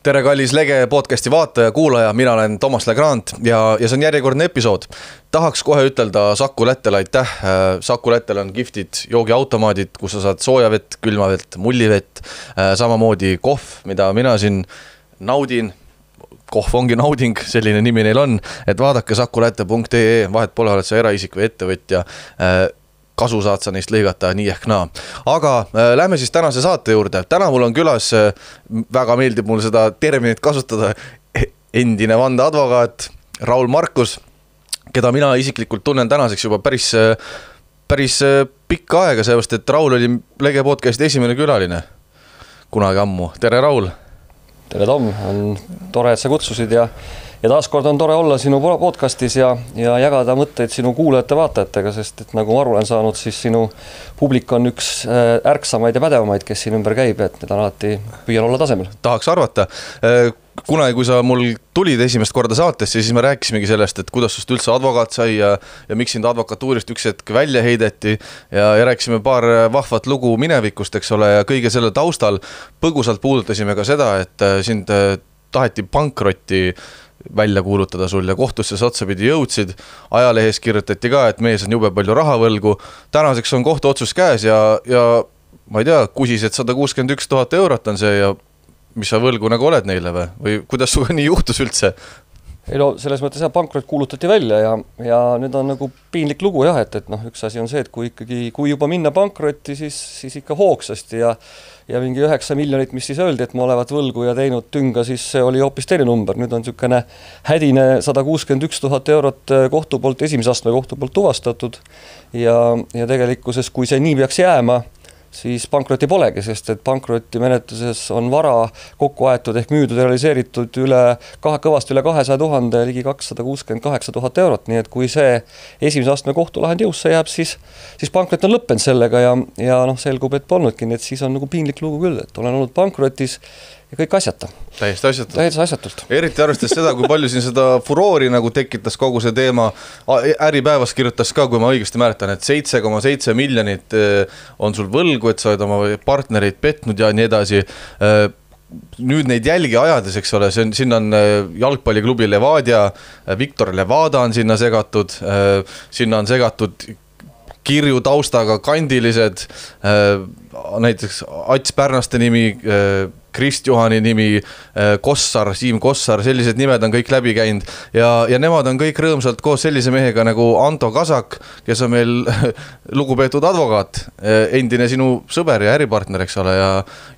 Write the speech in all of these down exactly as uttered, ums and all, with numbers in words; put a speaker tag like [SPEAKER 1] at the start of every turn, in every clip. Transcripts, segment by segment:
[SPEAKER 1] Tere kallis Lege podcasti vaataja, kuulaja, mina olen Toomas Legrand ja, ja see on järjekordne episood. Tahaks kohe ütelda Saku Lättele aitäh. Saku Lättel on giftid joogiautomaadid, kus sa saad soojavett, külmavett, mullivett, samamoodi kohv, mida mina siin naudin. Kohv ongi nauding, selline nimi neil on, et vaadake sakulätte punkt ee, vahet pole, oled sa eraisik või ettevõtja. Kasu saad sa neist lõigata nii ehk naa. Aga äh, lähme siis tänase saate juurde. Täna mul on külas, äh, väga meeldib mul seda terminit kasutada, endine vandeadvokaat Raul Markus, keda mina isiklikult tunnen tänaseks juba päris, äh, päris äh, pikka aega, seepärast, et Raul oli Lege podcasti esimene külaline kunagi ammu. Tere Raul!
[SPEAKER 2] Tere Tom, on tore, et sa kutsusid ja Ja taaskord on tore olla sinu podcastis ja, ja jagada mõtteid sinu kuulajate vaatajatega, sest et nagu ma aru olen saanud, siis sinu publik on üks ärksamaid ja pädevamaid, kes siin ümber käib, et need on alati püüan olla tasemel.
[SPEAKER 1] Tahaks arvata. Kunagi, kui sa mul tulid esimest korda saatesse, siis me rääkisimegi sellest, et kuidas sust üldse advokaat sai ja, ja miks sind advokatuurist üks hetk välja heideti ja, ja rääkisime paar vahvat lugu minevikust, eks ole, ja kõige selle taustal põgusalt puudutasime ka seda, et sind taheti pankrotti välja kuulutada sul ja kohtusse sa otsapidi jõudsid. Ajalehes kirjutati ka, et mees on jube palju rahavõlgu. Tänaseks on kohtu otsus käes ja, ja ma ei tea, kusis, et sada kuuskümmend üks tuhat eurot on see ja mis sa võlgu nagu oled neile või? Või kuidas suga nii juhtus üldse?
[SPEAKER 2] Ei no, selles mõttes jah, pankrot kuulutati välja ja, ja nüüd on nagu piinlik lugu jah, et, et noh, üks asi on see, et kui ikkagi, kui juba minna pankrotti, siis, siis ikka hoogsasti ja ja mingi üheksa miljonit, mis siis öeldi, et ma olevat võlgu ja teinud tünga, siis see oli hoopis teine number. Nüüd on niisugune hädine sada kuuskümmend üks tuhat eurot kohtu poolt, esimese astme kohtu poolt tuvastatud ja, ja tegelikkuses, kui see nii peaks jääma, siis pankroti polegi, sest et pankroti menetluses on vara kokku aetud ehk müüdud ja realiseeritud üle, kõvasti üle kahesaja tuhande, ligi kakssada kuuskümmend kaheksa tuhat eurot, nii et kui see esimese astme kohtulahend jõusse jääb, siis, siis pankrot on lõppenud sellega ja, ja noh, selgub, et polnudki, nii et siis on nagu piinlik lugu küll, et olen olnud pankrotis ja kõik asjata.
[SPEAKER 1] Täiesti asjatult.
[SPEAKER 2] Täiesti asjatult.
[SPEAKER 1] Eriti arvestades seda, kui palju siin seda furoori nagu tekitas kogu see teema. Äripäevas kirjutas ka, kui ma õigesti mäletan, et seitse koma seitse miljonit on sul võlgu, et sa oled oma partnereid petnud ja nii edasi. Nüüd neid jälgi ajades, eks ole, see on, sinna on jalgpalliklubi Levadia, Viktor Levada on sinna segatud, sinna on segatud kirju taustaga kandilised, näiteks Ats Pärnaste nimi, Krist Juhani nimi, Kossar, Siim Kossar, sellised nimed on kõik läbi käinud ja, ja nemad on kõik rõõmsalt koos sellise mehega nagu Anto Kasak, kes on meil lugupeetud advokaat, endine sinu sõber ja äripartner, eks ole, ja,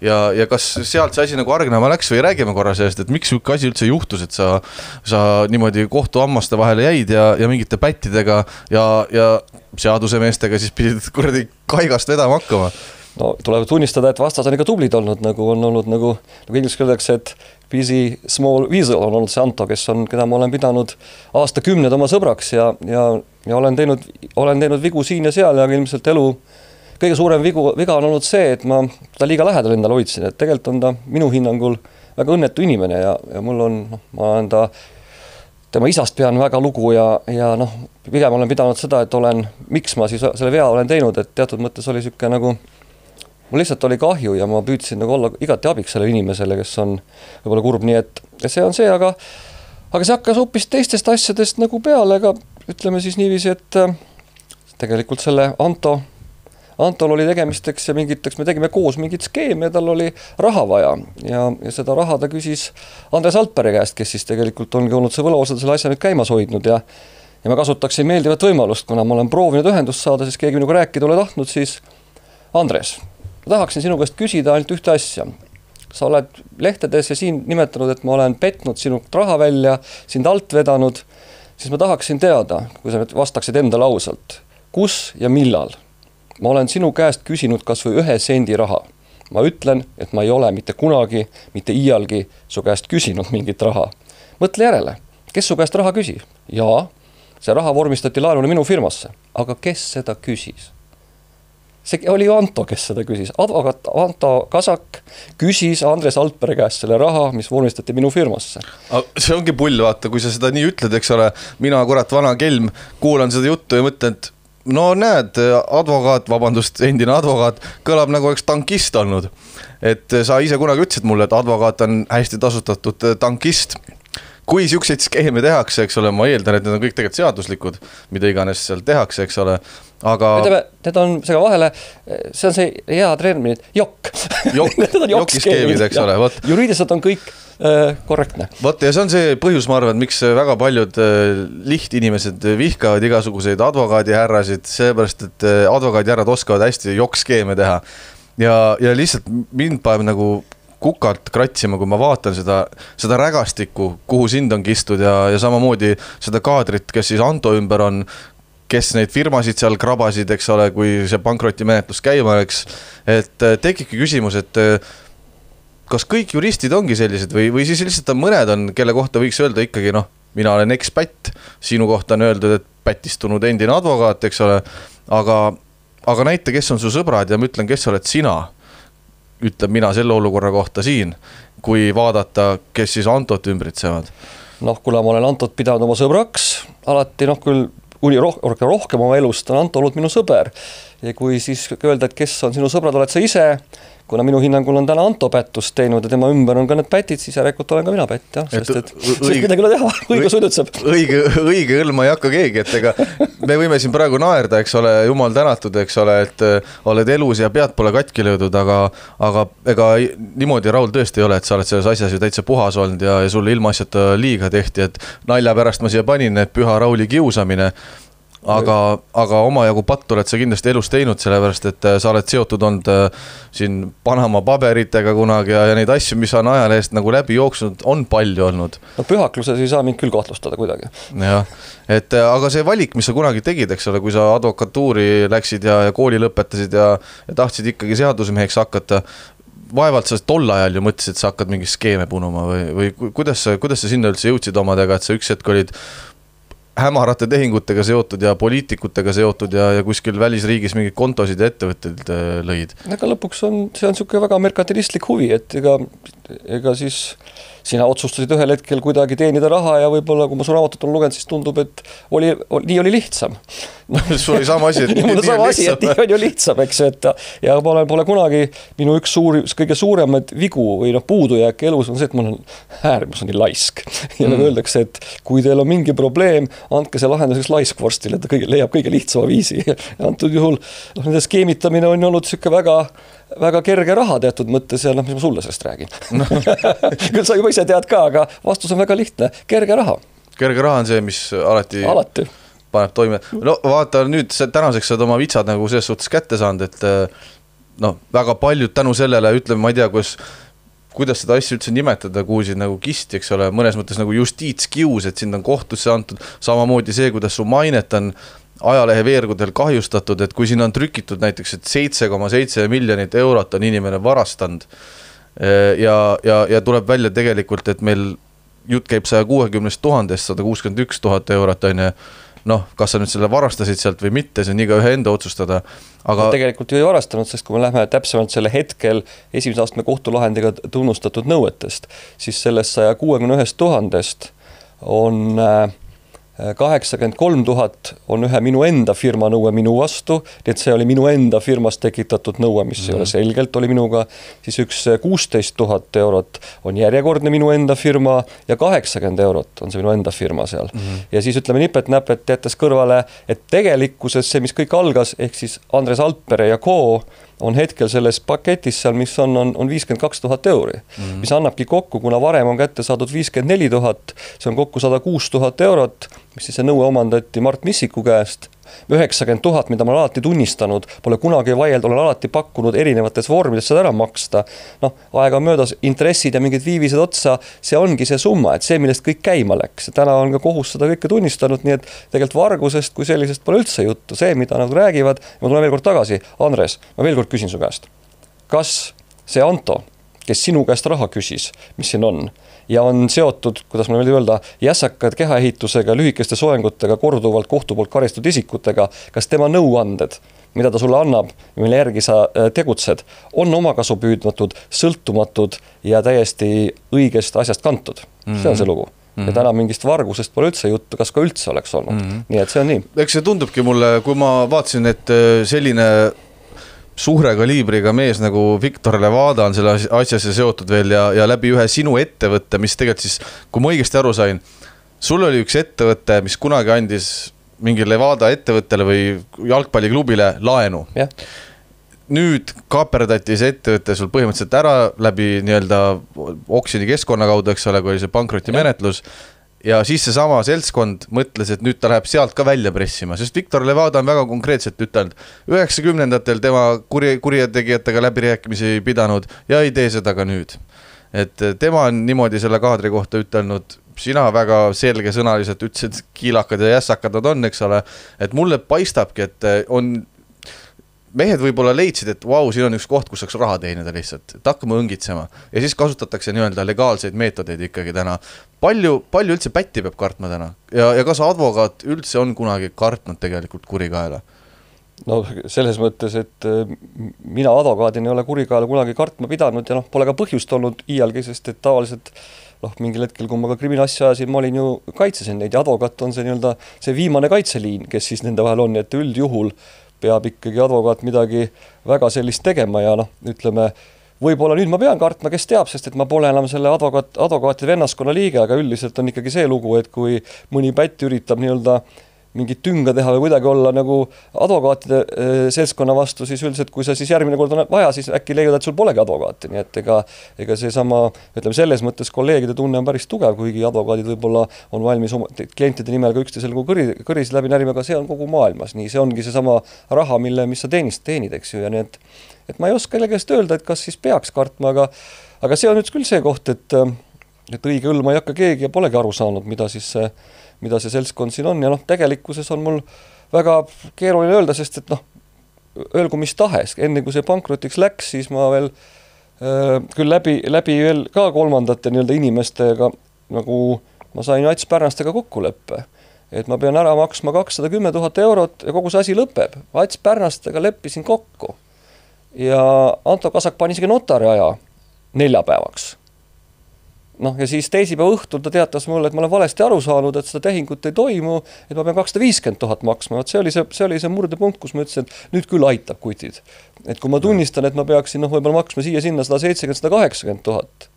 [SPEAKER 1] ja, ja kas sealt see asi nagu argnama läks või räägime korra sellest, et miks siuke asi üldse juhtus, et sa, sa niimoodi kohtu ammaste vahele jäid ja, ja mingite pättidega ja, ja seadusemeestega siis pidid kuradi kaigast vedama hakkama?
[SPEAKER 2] No tuleb tunnistada, et vastas on ikka tublid olnud, nagu on olnud nagu, nagu inglis öeldakse, et busy small weasel on olnud see Anto, kes on, keda ma olen pidanud aastakümned oma sõbraks ja, ja, ja olen, teinud, olen teinud vigu siin ja seal ja ilmselt elu kõige suurem vigu, viga on olnud see, et ma ta liiga lähedal endale hoidsin, et tegelikult on ta minu hinnangul väga õnnetu inimene ja, ja mul on, noh, ma olen ta tema isast pean väga lugu ja, ja noh, pigem olen pidanud seda, et olen, miks ma siis selle vea olen teinud, et teatud mõttes oli siuke nagu mul lihtsalt oli kahju ja ma püüdsin nagu olla igati abiks selle inimesele, kes on võib-olla kurb, nii et see on see, aga, aga see hakkas hoopis teistest asjadest nagu peale, aga ütleme siis niiviisi, et tegelikult selle Anto, Antol oli tegemisteks ja mingiteks, me tegime koos mingit skeemi ja tal oli raha vaja ja, ja seda raha ta küsis Andres Altpere käest, kes siis tegelikult ongi olnud see võlaosad selle asja nüüd käimas hoidnud ja, ja ma kasutaksin meeldivat võimalust, kuna ma olen proovinud ühendust saada, siis keegi minuga rääkida ole tahtnud, siis Andres, ma tahaksin sinu käest küsida ainult ühte asja. Sa oled lehtedes ja siin nimetanud, et ma olen petnud sinu raha välja, sind alt vedanud, siis ma tahaksin teada, kui sa vastaksid endale ausalt, kus ja millal ma olen sinu käest küsinud kas või ühe sendi raha. Ma ütlen, et ma ei ole mitte kunagi, mitte iialgi su käest küsinud mingit raha. Mõtle järele, kes su käest raha küsi? Jaa, see raha vormistati laenuna minu firmasse, aga kes seda küsis? See oli Anto, kes seda küsis. Advokaat Anto Kasak küsis Andres Altpere käest selle raha, mis vormistati minu firmasse.
[SPEAKER 1] See ongi pull, vaata, kui sa seda nii ütled, eks ole, mina kurat vana kelm kuulan seda juttu ja mõtlen, et no näed, advokaat, vabandust, endine advokaat, kõlab nagu oleks tankist olnud. et sa ise kunagi ütlesid mulle, et advokaat on hästi tasustatud tankist. Kui siukseid skeeme tehakse, eks ole, ma eeldan, et need on kõik tegelikult seaduslikud, mida iganes seal tehakse, eks ole, aga...
[SPEAKER 2] Need on sega vahele, see on see hea termin, jokk.
[SPEAKER 1] Jokk, jokiskeemid, eks ole. Võt.
[SPEAKER 2] Juriidiliselt on kõik äh, korrektne.
[SPEAKER 1] Võt, ja see on see põhjus, ma arvan, miks väga paljud äh, lihtinimesed vihkavad igasuguseid advokaadihärrasid, seepärast, et äh, advokaadihärrad oskavad hästi jokkskeeme teha. Ja, ja lihtsalt mind paneb nagu... kukalt kratsima, kui ma vaatan seda, seda rägastikku, kuhu sind on kistud ja, ja samamoodi seda kaadrit, kes siis Anto ümber on, kes neid firmasid seal krabasid, eks ole, kui see pankrotimenetlus käima oleks, et tekibki küsimus, et kas kõik juristid ongi sellised või, või siis lihtsalt on mõned on, kelle kohta võiks öelda ikkagi, noh, mina olen ekspätt, sinu kohta on öeldud, et pätistunud endine advokaat, eks ole, aga, aga näite, kes on su sõbrad ja ma ütlen, kes oled sina, ütleb mina selle olukorra kohta siin, kui vaadata, kes siis Antot ümbritsevad.
[SPEAKER 2] Noh, kuna ma olen Antot pidanud oma sõbraks, alati noh, küll uni roh rohkem oma elust on Anto olnud minu sõber. Ja kui siis öelda, et kes on sinu sõbrad, oled sa ise, kuna minu hinnangul on täna Anto pättust teinud ja tema ümber on ka need pätid, siis järelikult olen ka mina pätt, jah, sest et, et õige, midagi üle teha, õigus üdutseb.
[SPEAKER 1] Õige, õige õlma ei hakka keegi, et ega me võime siin praegu naerda, eks ole, jumal tänatud, eks ole, et oled elus ja pead pole katki löödud, aga, aga ega niimoodi Raul tõesti ei ole, et sa oled selles asjas ju täitsa puhas olnud ja, ja sulle ilmaasjata liiga tehti, et nalja pärast ma siia panin, et püha Rauli kiusamine. Aga, aga oma jagu pattu oled sa kindlasti elus teinud, sellepärast, et sa oled seotud olnud siin Panama paberitega kunagi ja, ja neid asju, mis on ajalehest nagu läbi jooksnud, on palju olnud.
[SPEAKER 2] No pühakluses ei saa mind küll kahtlustada kuidagi.
[SPEAKER 1] Jah, et aga see valik, mis sa kunagi tegid, eks ole, kui sa advokatuuri läksid ja, ja kooli lõpetasid ja, ja tahtsid ikkagi seadusemeheks hakata, vaevalt sa tol ajal ju mõtlesid, et sa hakkad mingi skeeme punuma või, või kuidas, kuidas sa sinna üldse jõudsid omadega, et sa üks hetk olid hämarate tehingutega seotud ja poliitikutega seotud ja, ja kuskil välisriigis mingid kontosid ja ettevõtted lõid.
[SPEAKER 2] Ega lõpuks on, see on siuke väga merkantilistlik huvi, et ega, ega siis sina otsustasid ühel hetkel kuidagi teenida raha ja võib-olla, kui ma su raamatut on lugenud, siis tundub, et oli, oli, nii oli lihtsam.
[SPEAKER 1] Sul oli sama asi, et nii,
[SPEAKER 2] nii, nii sama asi, et nii on ju lihtsam, eks, et ja ma olen, pole kunagi minu üks suuri, kõige suuremad vigu või noh, puudujääk elus on see, et ma olen äärmus on nii laisk. Ja mm. nagu öeldakse, et kui teil on mingi probleem, andke see lahenduseks laiskvorstile, et ta kõige, leiab kõige lihtsama viisi. Ja antud juhul noh, nende skeemitamine on olnud siuke väga väga kerge raha teatud mõttes ja noh, mis ma sulle sellest räägin. No. Küll sa juba ise tead ka, aga vastus on väga lihtne. Kerge raha.
[SPEAKER 1] Kerge raha on see, mis alati,
[SPEAKER 2] alati.
[SPEAKER 1] paneb toime. No vaata nüüd tänaseks saad oma vitsad nagu selles suhtes kätte saanud, et noh, väga paljud tänu sellele, ütleme, ma ei tea, kus, kuidas seda asja üldse nimetada, kuulsid nagu kisti, eks ole, mõnes mõttes nagu justiitskius, et sind on kohtusse antud, samamoodi see, kuidas su mainet on ajalehe veergudel kahjustatud, et kui siin on trükitud näiteks, et seitse koma seitse miljonit eurot on inimene varastanud ja, ja, ja tuleb välja tegelikult, et meil jutt käib saja kuuekümne tuhandest, sada kuuskümmend üks tuhat eurot on ja noh, kas sa nüüd selle varastasid sealt või mitte, see on iga ühe enda otsustada. Aga...
[SPEAKER 2] Tegelikult ju ei varastanud, sest kui me lähme täpsemalt selle hetkel esimese astme kohtulahendiga tunnustatud nõuetest, siis sellest saja kuuekümne ühest tuhandest on kaheksakümmend kolm tuhat on ühe minu enda firma nõue minu vastu, nii et see oli minu enda firmas tekitatud nõue, mis mm. ei ole selgelt, oli minuga, siis üks kuusteist tuhat eurot on järjekordne minu enda firma ja kaheksakümmend eurot on see minu enda firma seal. Mm. Ja siis ütleme nipet-näpet jättes kõrvale, et tegelikkuses see, mis kõik algas, ehk siis Andres Alpere ja Co. on hetkel selles paketis seal, mis on, on, on viiskümmend kaks tuhat euri, mm. mis annabki kokku, kuna varem on kätte saadud viiskümmend neli tuhat, see on kokku sada kuus tuhat eurot, mis siis see nõue omandati Mart Missiku käest, üheksakümmend tuhat, mida ma olen alati tunnistanud, pole kunagi vaield, olen alati pakkunud erinevates vormides seda ära maksta. Noh, aega möödas, intressid ja mingid viivised otsa, see ongi see summa, et see, millest kõik käima läks. Täna on ka kohus seda kõike tunnistanud, nii et tegelikult vargusest kui sellisest pole üldse juttu. See, mida nad räägivad, ma tulen veel kord tagasi. Andres, ma veel kord küsin su käest. Kas see Anto, kes sinu käest raha küsis, mis siin on, ja on seotud, kuidas ma veel öelda, jässakad kehaehitusega, lühikeste soengutega, korduvalt kohtu poolt karistatud isikutega, kas tema nõuanded, mida ta sulle annab, mille järgi sa tegutsed, on omakasu püüdmatud, sõltumatud ja täiesti õigest asjast kantud. Mm-hmm. See on see lugu. Mm-hmm. Ja täna mingist vargusest pole üldse juttu, kas ka üldse oleks olnud. Mm-hmm. Nii et see on nii.
[SPEAKER 1] Eks see tundubki mulle, kui ma vaatasin, et selline suure kaliibriga mees nagu Victor Levada on selle asjasse seotud veel ja, ja läbi ühe sinu ettevõtte, mis tegelikult siis, kui ma õigesti aru sain, sul oli üks ettevõte, mis kunagi andis mingi Levada ettevõttele või jalgpalliklubile laenu.
[SPEAKER 2] jah.
[SPEAKER 1] Nüüd kaaperdati see ettevõte sul põhimõtteliselt ära läbi nii-öelda oksjoni keskkonna kaudu, eks ole, kui oli see pankroti menetlus. Ja siis see sama seltskond mõtles, et nüüd ta läheb sealt ka välja pressima, sest Victor Levada on väga konkreetselt ütelnud, üheksakümnendatel tema kuri, kurjategijatega läbirääkimisi pidanud ja ei tee seda ka nüüd. Et tema on niimoodi selle kaadri kohta ütelnud, sina väga selgesõnaliselt ütlesid, kiilakad ja jässakad nad on, eks ole, et mulle paistabki, et on mehed võib-olla leidsid, et vau, siin on üks koht, kus saaks raha teenida lihtsalt, et hakkame õngitsema. Ja siis kasutatakse nii-öelda legaalseid meetodeid ikkagi täna. Palju, palju üldse pätti peab kartma täna? Ja, ja kas advokaat üldse on kunagi kartnud tegelikult kurikaela?
[SPEAKER 2] No selles mõttes, et mina advokaadin ei ole kurikaela kunagi kartma pidanud ja noh, pole ka põhjust olnud iialgi, sest et tavaliselt noh, mingil hetkel, kui ma ka kriminaalasja ajasin, ma olin ju kaitsesin neid ja advokaat on see nii-öelda see viimane kaitseliin, kes siis nende vahel on, et üldjuhul peab ikkagi advokaat midagi väga sellist tegema ja noh, ütleme, võib-olla nüüd ma pean kartma, kes teab, sest et ma pole enam selle advokaat, advokaatide vennaskonna liige, aga üldiselt on ikkagi see lugu, et kui mõni pätt üritab nii-öelda mingit tünga teha või kuidagi olla nagu advokaatide e, seltskonna vastu, siis üldiselt, kui sa siis järgmine kord on vaja, siis äkki leiad, et sul polegi advokaati, nii et ega, ega see sama, ütleme selles mõttes kolleegide tunne on päris tugev, kuigi advokaadid võib-olla on valmis oma klientide nimel ka üksteisel kui kõri, kõris läbi närima, aga see on kogu maailmas, nii see ongi see sama raha, mille, mis sa teenist, teenid, eks ju, ja nii et, et ma ei oska kellegest öelda, et kas siis peaks kartma, aga, aga see on nüüd küll see koht, et, et õige õlma ei hakka keegi ja polegi aru saanud, mida siis see mida see seltskond siin on ja noh, tegelikkuses on mul väga keeruline öelda, sest et noh, öelgu mis tahes, enne kui see pankrotiks läks, siis ma veel äh, küll läbi, läbi veel ka kolmandate nii-öelda inimestega, nagu ma sain Ats Pärnastega kokkuleppe, et ma pean ära maksma kakssada kümme tuhat eurot ja kogu see asi lõpeb. Ats Pärnastega leppisin kokku ja Anto Kasak pani isegi notari aja neljapäevaks. Noh, ja siis teisipäeva õhtul ta teatas mulle, et ma olen valesti aru saanud, et seda tehingut ei toimu, et ma pean kakssada viiskümmend tuhat maksma. See oli see, see oli see murdepunkt, kus ma ütlesin, et nüüd küll aitab kutid. Et kui ma tunnistan, et ma peaksin noh, võib-olla maksma siia sinna sada seitsekümmend, sada kaheksakümmend tuhat.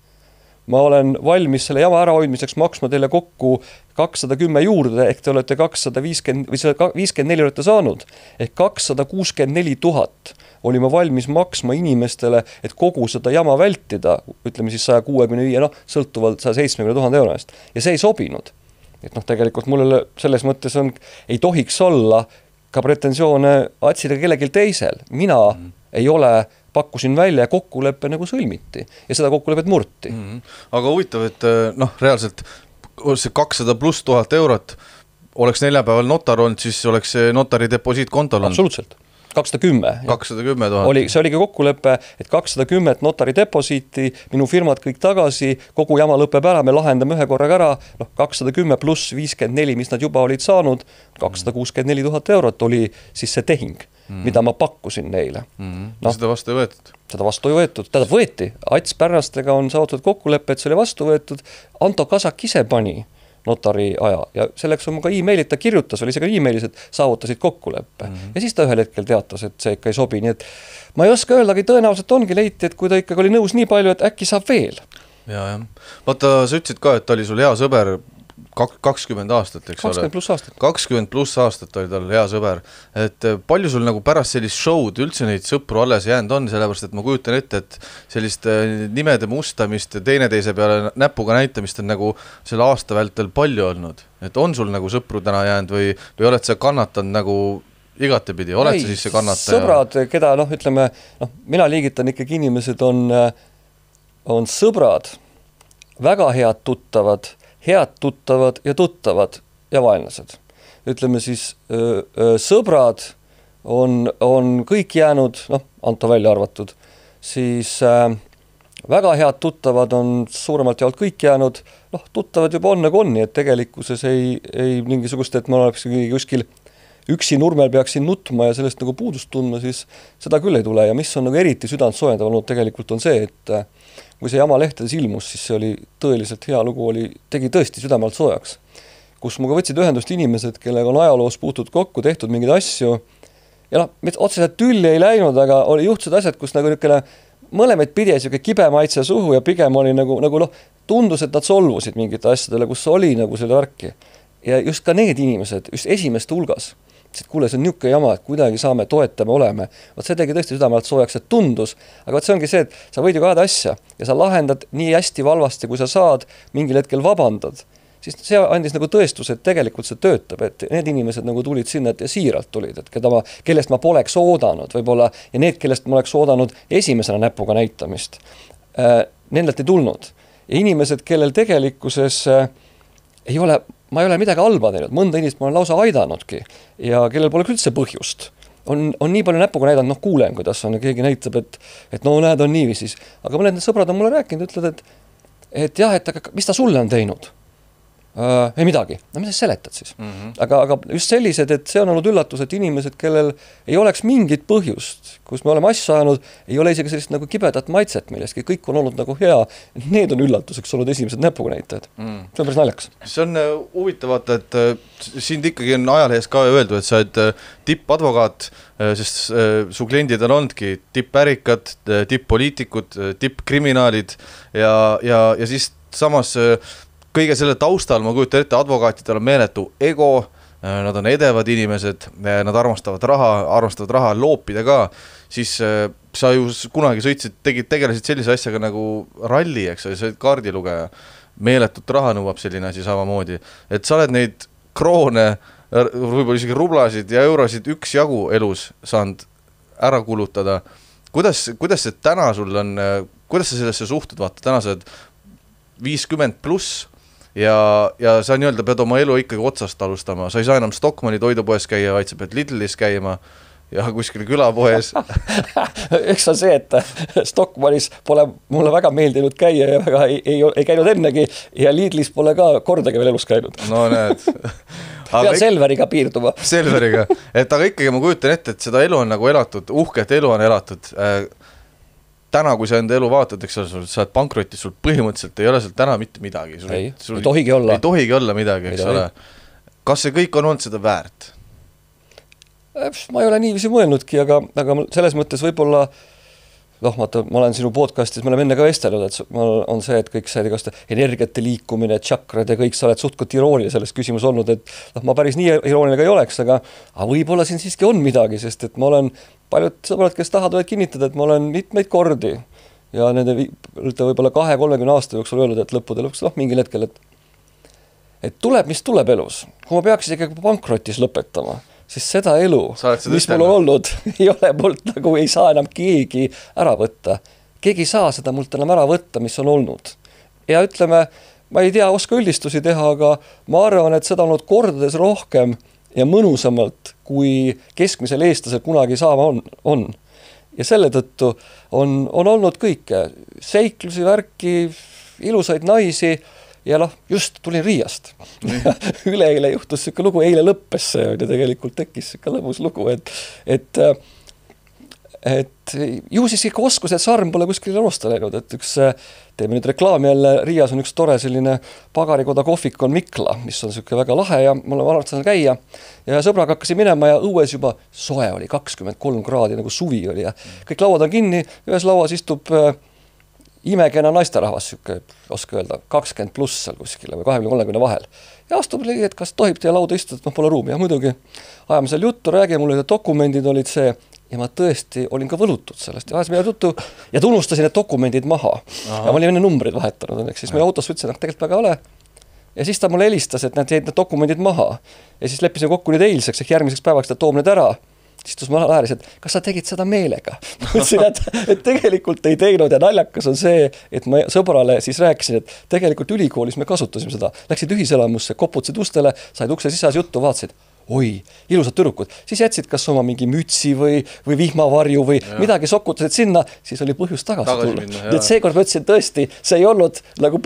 [SPEAKER 2] Ma olen valmis selle jama ärahoidmiseks maksma teile kokku kakssada kümme juurde, ehk te olete kakssada viiskümmend või selle viiskümmend neli olete saanud, ehk kakssada kuuskümmend neli tuhat oli ma valmis maksma inimestele, et kogu seda jama vältida, ütleme siis sada kuuekümne viis, noh, sõltuvalt sada seitsmekümne tuhande euro eest. Ja see ei sobinud. Et noh, tegelikult mulle selles mõttes on, ei tohiks olla ka pretensioone Atsile kellelgi teisel. Mina mm. ei ole pakkusin välja ja kokkuleppe nagu sõlmiti ja seda kokkulepet murti.
[SPEAKER 1] Mm-hmm. Aga huvitav, et noh, reaalselt see kakssada pluss tuhat eurot oleks neljapäeval notar olnud, siis oleks see notari deposiit kontol olnud.
[SPEAKER 2] Absoluutselt. kakssada kümme.
[SPEAKER 1] kakssada kümme tuhat.
[SPEAKER 2] Oli, see oligi kokkulepe, et kakssada kümme notari deposiiti, minu firmad kõik tagasi, kogu jama lõpeb ära, me lahendame ühe korraga ära, noh, kakssada kümme pluss viiskümmend neli, mis nad juba olid saanud, kakssada kuuskümmend neli tuhat eurot oli siis see tehing, mm-hmm. mida ma pakkusin neile.
[SPEAKER 1] Mm-hmm. No, seda vastu ei võetud?
[SPEAKER 2] Seda vastu ei võetud. Täda võeti. Ats Pärnastega on saavutatud kokkulepe, et see oli vastu võetud. Anto Kasak ise pani notari aja ja selleks on ka e-mailit, ta kirjutas veel isegi e-mailis, et saavutasid kokkuleppe. Mm-hmm. Ja siis ta ühel hetkel teatas, et see ikka ei sobi. Nii et ma ei oska öeldagi, tõenäoliselt ongi leiti, et kui ta ikkagi oli nõus nii palju, et äkki saab veel.
[SPEAKER 1] Ja, ja. Vaata, sa ütlesid ka, et ta oli sul hea sõber kakskümmend aastat, eks
[SPEAKER 2] kakskümmend ole? Pluss aastat.
[SPEAKER 1] kakskümmend pluss aastat oli tal hea sõber. Et palju sul nagu pärast sellist show'd üldse neid sõpru alles jäänud on, sellepärast, et ma kujutan ette, et sellist nimede mustamist ja teineteise peale näpuga näitamist on nagu selle aasta vältel palju olnud. Et on sul nagu sõpru täna jäänud või, või oled sa kannatanud nagu igatepidi? Oled sa siis see kannataja?
[SPEAKER 2] Sõbrad, keda, noh, ütleme, noh, mina liigitan ikkagi inimesed on, on sõbrad, väga head tuttavad, head tuttavad ja tuttavad ja vaenlased. Ütleme siis, öö, öö, sõbrad on, on kõik jäänud, noh, Anto välja arvatud, siis äh, väga head tuttavad on suuremalt jaolt kõik jäänud, noh, tuttavad juba on nagu on, nii et tegelikkuses ei, ei mingisugust, et ma oleks kuskil üksi nurmel peaksin nutma ja sellest nagu puudust tundma, siis seda küll ei tule ja mis on nagu eriti südant soojendav olnud tegelikult on see, et kui see jama lehtedes ilmus, siis see oli tõeliselt hea lugu, oli, tegi tõesti südamalt soojaks, kus muga võtsid ühendust inimesed, kellega on ajaloos puutud kokku, tehtud mingeid asju ja noh, otseselt tülli ei läinud, aga oli juhtused asjad, kus nagu niisugune mõlemaid pidi niisugune kibe maitse suhu ja pigem oli nagu, nagu noh, tundus, et nad solvusid mingite asjadele, kus oli nagu selle värki. Ja just ka need inimesed, just esimeste hulgas, et kuule, see on niisugune jama, et kuidagi saame, toetame, oleme. Vaat see tegi tõesti südamelt soojaks, et tundus, aga vaat see ongi see, et sa võid ju kaheda asja ja sa lahendad nii hästi valvasti, kui sa saad, mingil hetkel vabandad. Siis see andis nagu tõestus, et tegelikult see töötab, et need inimesed nagu tulid sinna, et siiralt tulid, et keda ma, kellest ma poleks oodanud võib-olla ja need, kellest ma oleks oodanud esimesena näpuga näitamist, äh, nendelt ei tulnud. Ja inimesed, kellel tegelikkuses äh, ei ole, ma ei ole midagi halba teinud, mõnda inimest ma olen lausa aidanudki ja kellel pole üldse põhjust. On, on nii palju näpuga näidanud, noh kuulen, kuidas on, keegi näitab, et, et no näed, on niiviisi. Aga mõned need sõbrad on mulle rääkinud, ütlevad, et, et jah, et aga mis ta sulle on teinud? Uh, ei midagi, no mida sa seletad siis mm -hmm. aga, aga just sellised, et see on olnud üllatus, et inimesed, kellel ei oleks mingit põhjust, kus me oleme asja ajanud, ei ole isegi sellist nagu kibedat maitset millestki, kõik on olnud nagu hea, need on üllatuseks olnud esimesed näpuga näitajad mm. see on päris naljakas.
[SPEAKER 1] See on uh, huvitav vaata, et uh, sind ikkagi on ajalehes ka öeldud, et sa oled uh, tippadvokaat, uh, sest uh, su kliendid on olnudki tippärikad, uh, tipppoliitikud, uh, tippkriminaalid ja, ja, ja siis samas uh, kõige selle taustal, ma kujutan ette, advokaatidel on meeletu ego, nad on edevad inimesed, nad armastavad raha, armastavad raha loopida ka, siis sa ju kunagi sõitsid, tegid, tegelesid sellise asjaga nagu ralli, eks sa olid kaardilugeja, meeletut raha nõuab selline asi samamoodi, et sa oled neid kroone, võib-olla isegi rublasid ja eurosid üks jagu elus saanud ära kulutada. Kuidas, kuidas see täna sul on, kuidas sa sellesse suhtud, vaata, täna sa oled viiskümmend pluss, ja, ja sa nii-öelda pead oma elu ikkagi otsast alustama, sa ei saa enam Stockmanni toidupoes käia, vaid sa pead Lidlis käima ja kuskil külapoes.
[SPEAKER 2] Eks on see, et Stockmannis pole mulle väga meeldinud käia ja väga ei, ei, ei käinud ennegi ja Lidlis pole ka kordagi veel elus käinud.
[SPEAKER 1] No näed.
[SPEAKER 2] Pead Selveriga piirduma.
[SPEAKER 1] Selveriga, et aga ikkagi ma kujutan ette, et seda elu on nagu elatud, uhket elu on elatud. Täna, kui sa enda elu vaatad, eks sa oled pankrotis, sul põhimõtteliselt ei ole sul täna mitte midagi. Sul
[SPEAKER 2] ei, sul ei tohigi olla.
[SPEAKER 1] Ei tohigi olla midagi, eks ole. Kas see kõik on olnud seda väärt?
[SPEAKER 2] Ma ei ole niiviisi mõelnudki, aga, aga selles mõttes võib-olla, noh, ma, ma olen sinu podcastis, me oleme enne ka vestelnud, et on see, et kõik see energiate liikumine, tšakrad ja kõik, sa oled suhtko irooniline selles küsimus olnud, et noh, ma päris nii irooniline ka ei oleks, aga, aga võib-olla siin siiski on midagi, sest et ma olen paljud sõbrad, kes tahavad võivad kinnitada, et ma olen mitmeid kordi ja nende võib-olla kahe kolmekümne aasta jooksul öelnud, et lõppude lõpuks, noh, mingil hetkel, et, et tuleb, mis tuleb elus. Kui ma peaks isegi pankrotis lõpetama, siis seda elu, mis mul on olnud, ei ole mult nagu ei saa enam keegi ära võtta. Keegi ei saa seda mult enam ära võtta, mis on olnud. Ja ütleme, ma ei tea, oska üldistusi teha, aga ma arvan, et seda on olnud kordades rohkem ja mõnusamalt, kui keskmisel eestlasel kunagi saama on, on. Ja selle tõttu on, on olnud kõike. Seiklusi, värki, ilusaid naisi ja noh, just tulin Riiast. Üle-eile juhtus siuke lugu, eile lõppes see ja tegelikult tekkis siuke lõbus lugu, et, et, et ju siis ikka oskus, et sarm pole kuskil rosta läinud, et üks teeme nüüd reklaami jälle, Riias on üks tore selline pagarikoda kohvik on Mikla, mis on siuke väga lahe ja mul on arvatud käia ja sõbraga hakkasin minema ja õues juba soe oli, kakskümmend kolm kraadi nagu suvi oli ja kõik lauad on kinni, ühes lauas istub äh, imekena naisterahvas, siuke, oska öelda, kakskümmend pluss seal kuskile või kahekümne kolmekümne vahel ja astub ligi, et kas tohib teie lauda istuda, et noh, pole ruumi ja muidugi ajame seal juttu, räägi, mul olid dokumendid olid see ja ma tõesti olin ka võlutud sellest ja ajasime juttu ja tunnustasin need dokumendid maha. Aha. Ja ma olin enne numbrid vahetanud, õnneks siis ma autos võtsin, et tegelikult väga ole. Ja siis ta mulle helistas, et nad jäid need dokumendid maha. Ja siis leppisime kokku nüüd eilseks, ehk järgmiseks päevaks ta toob need ära. Siis tus ma läheris, et kas sa tegid seda meelega? Mõtlesin, et, et tegelikult ei teinud ja naljakas on see, et ma sõbrale siis rääkisin, et tegelikult ülikoolis me kasutasime seda. Läksid ühiselamusse, koputasid ustele, said ukse sisas juttu, vaatasid. Oi, ilusad tüdrukud, siis jätsid kas oma mingi mütsi või, või vihmavarju või ja. Midagi sokutasid sinna, siis oli põhjus tagasi, tagasi tulla. Minna, et seekord ma ütlesin tõesti, see ei olnud nagu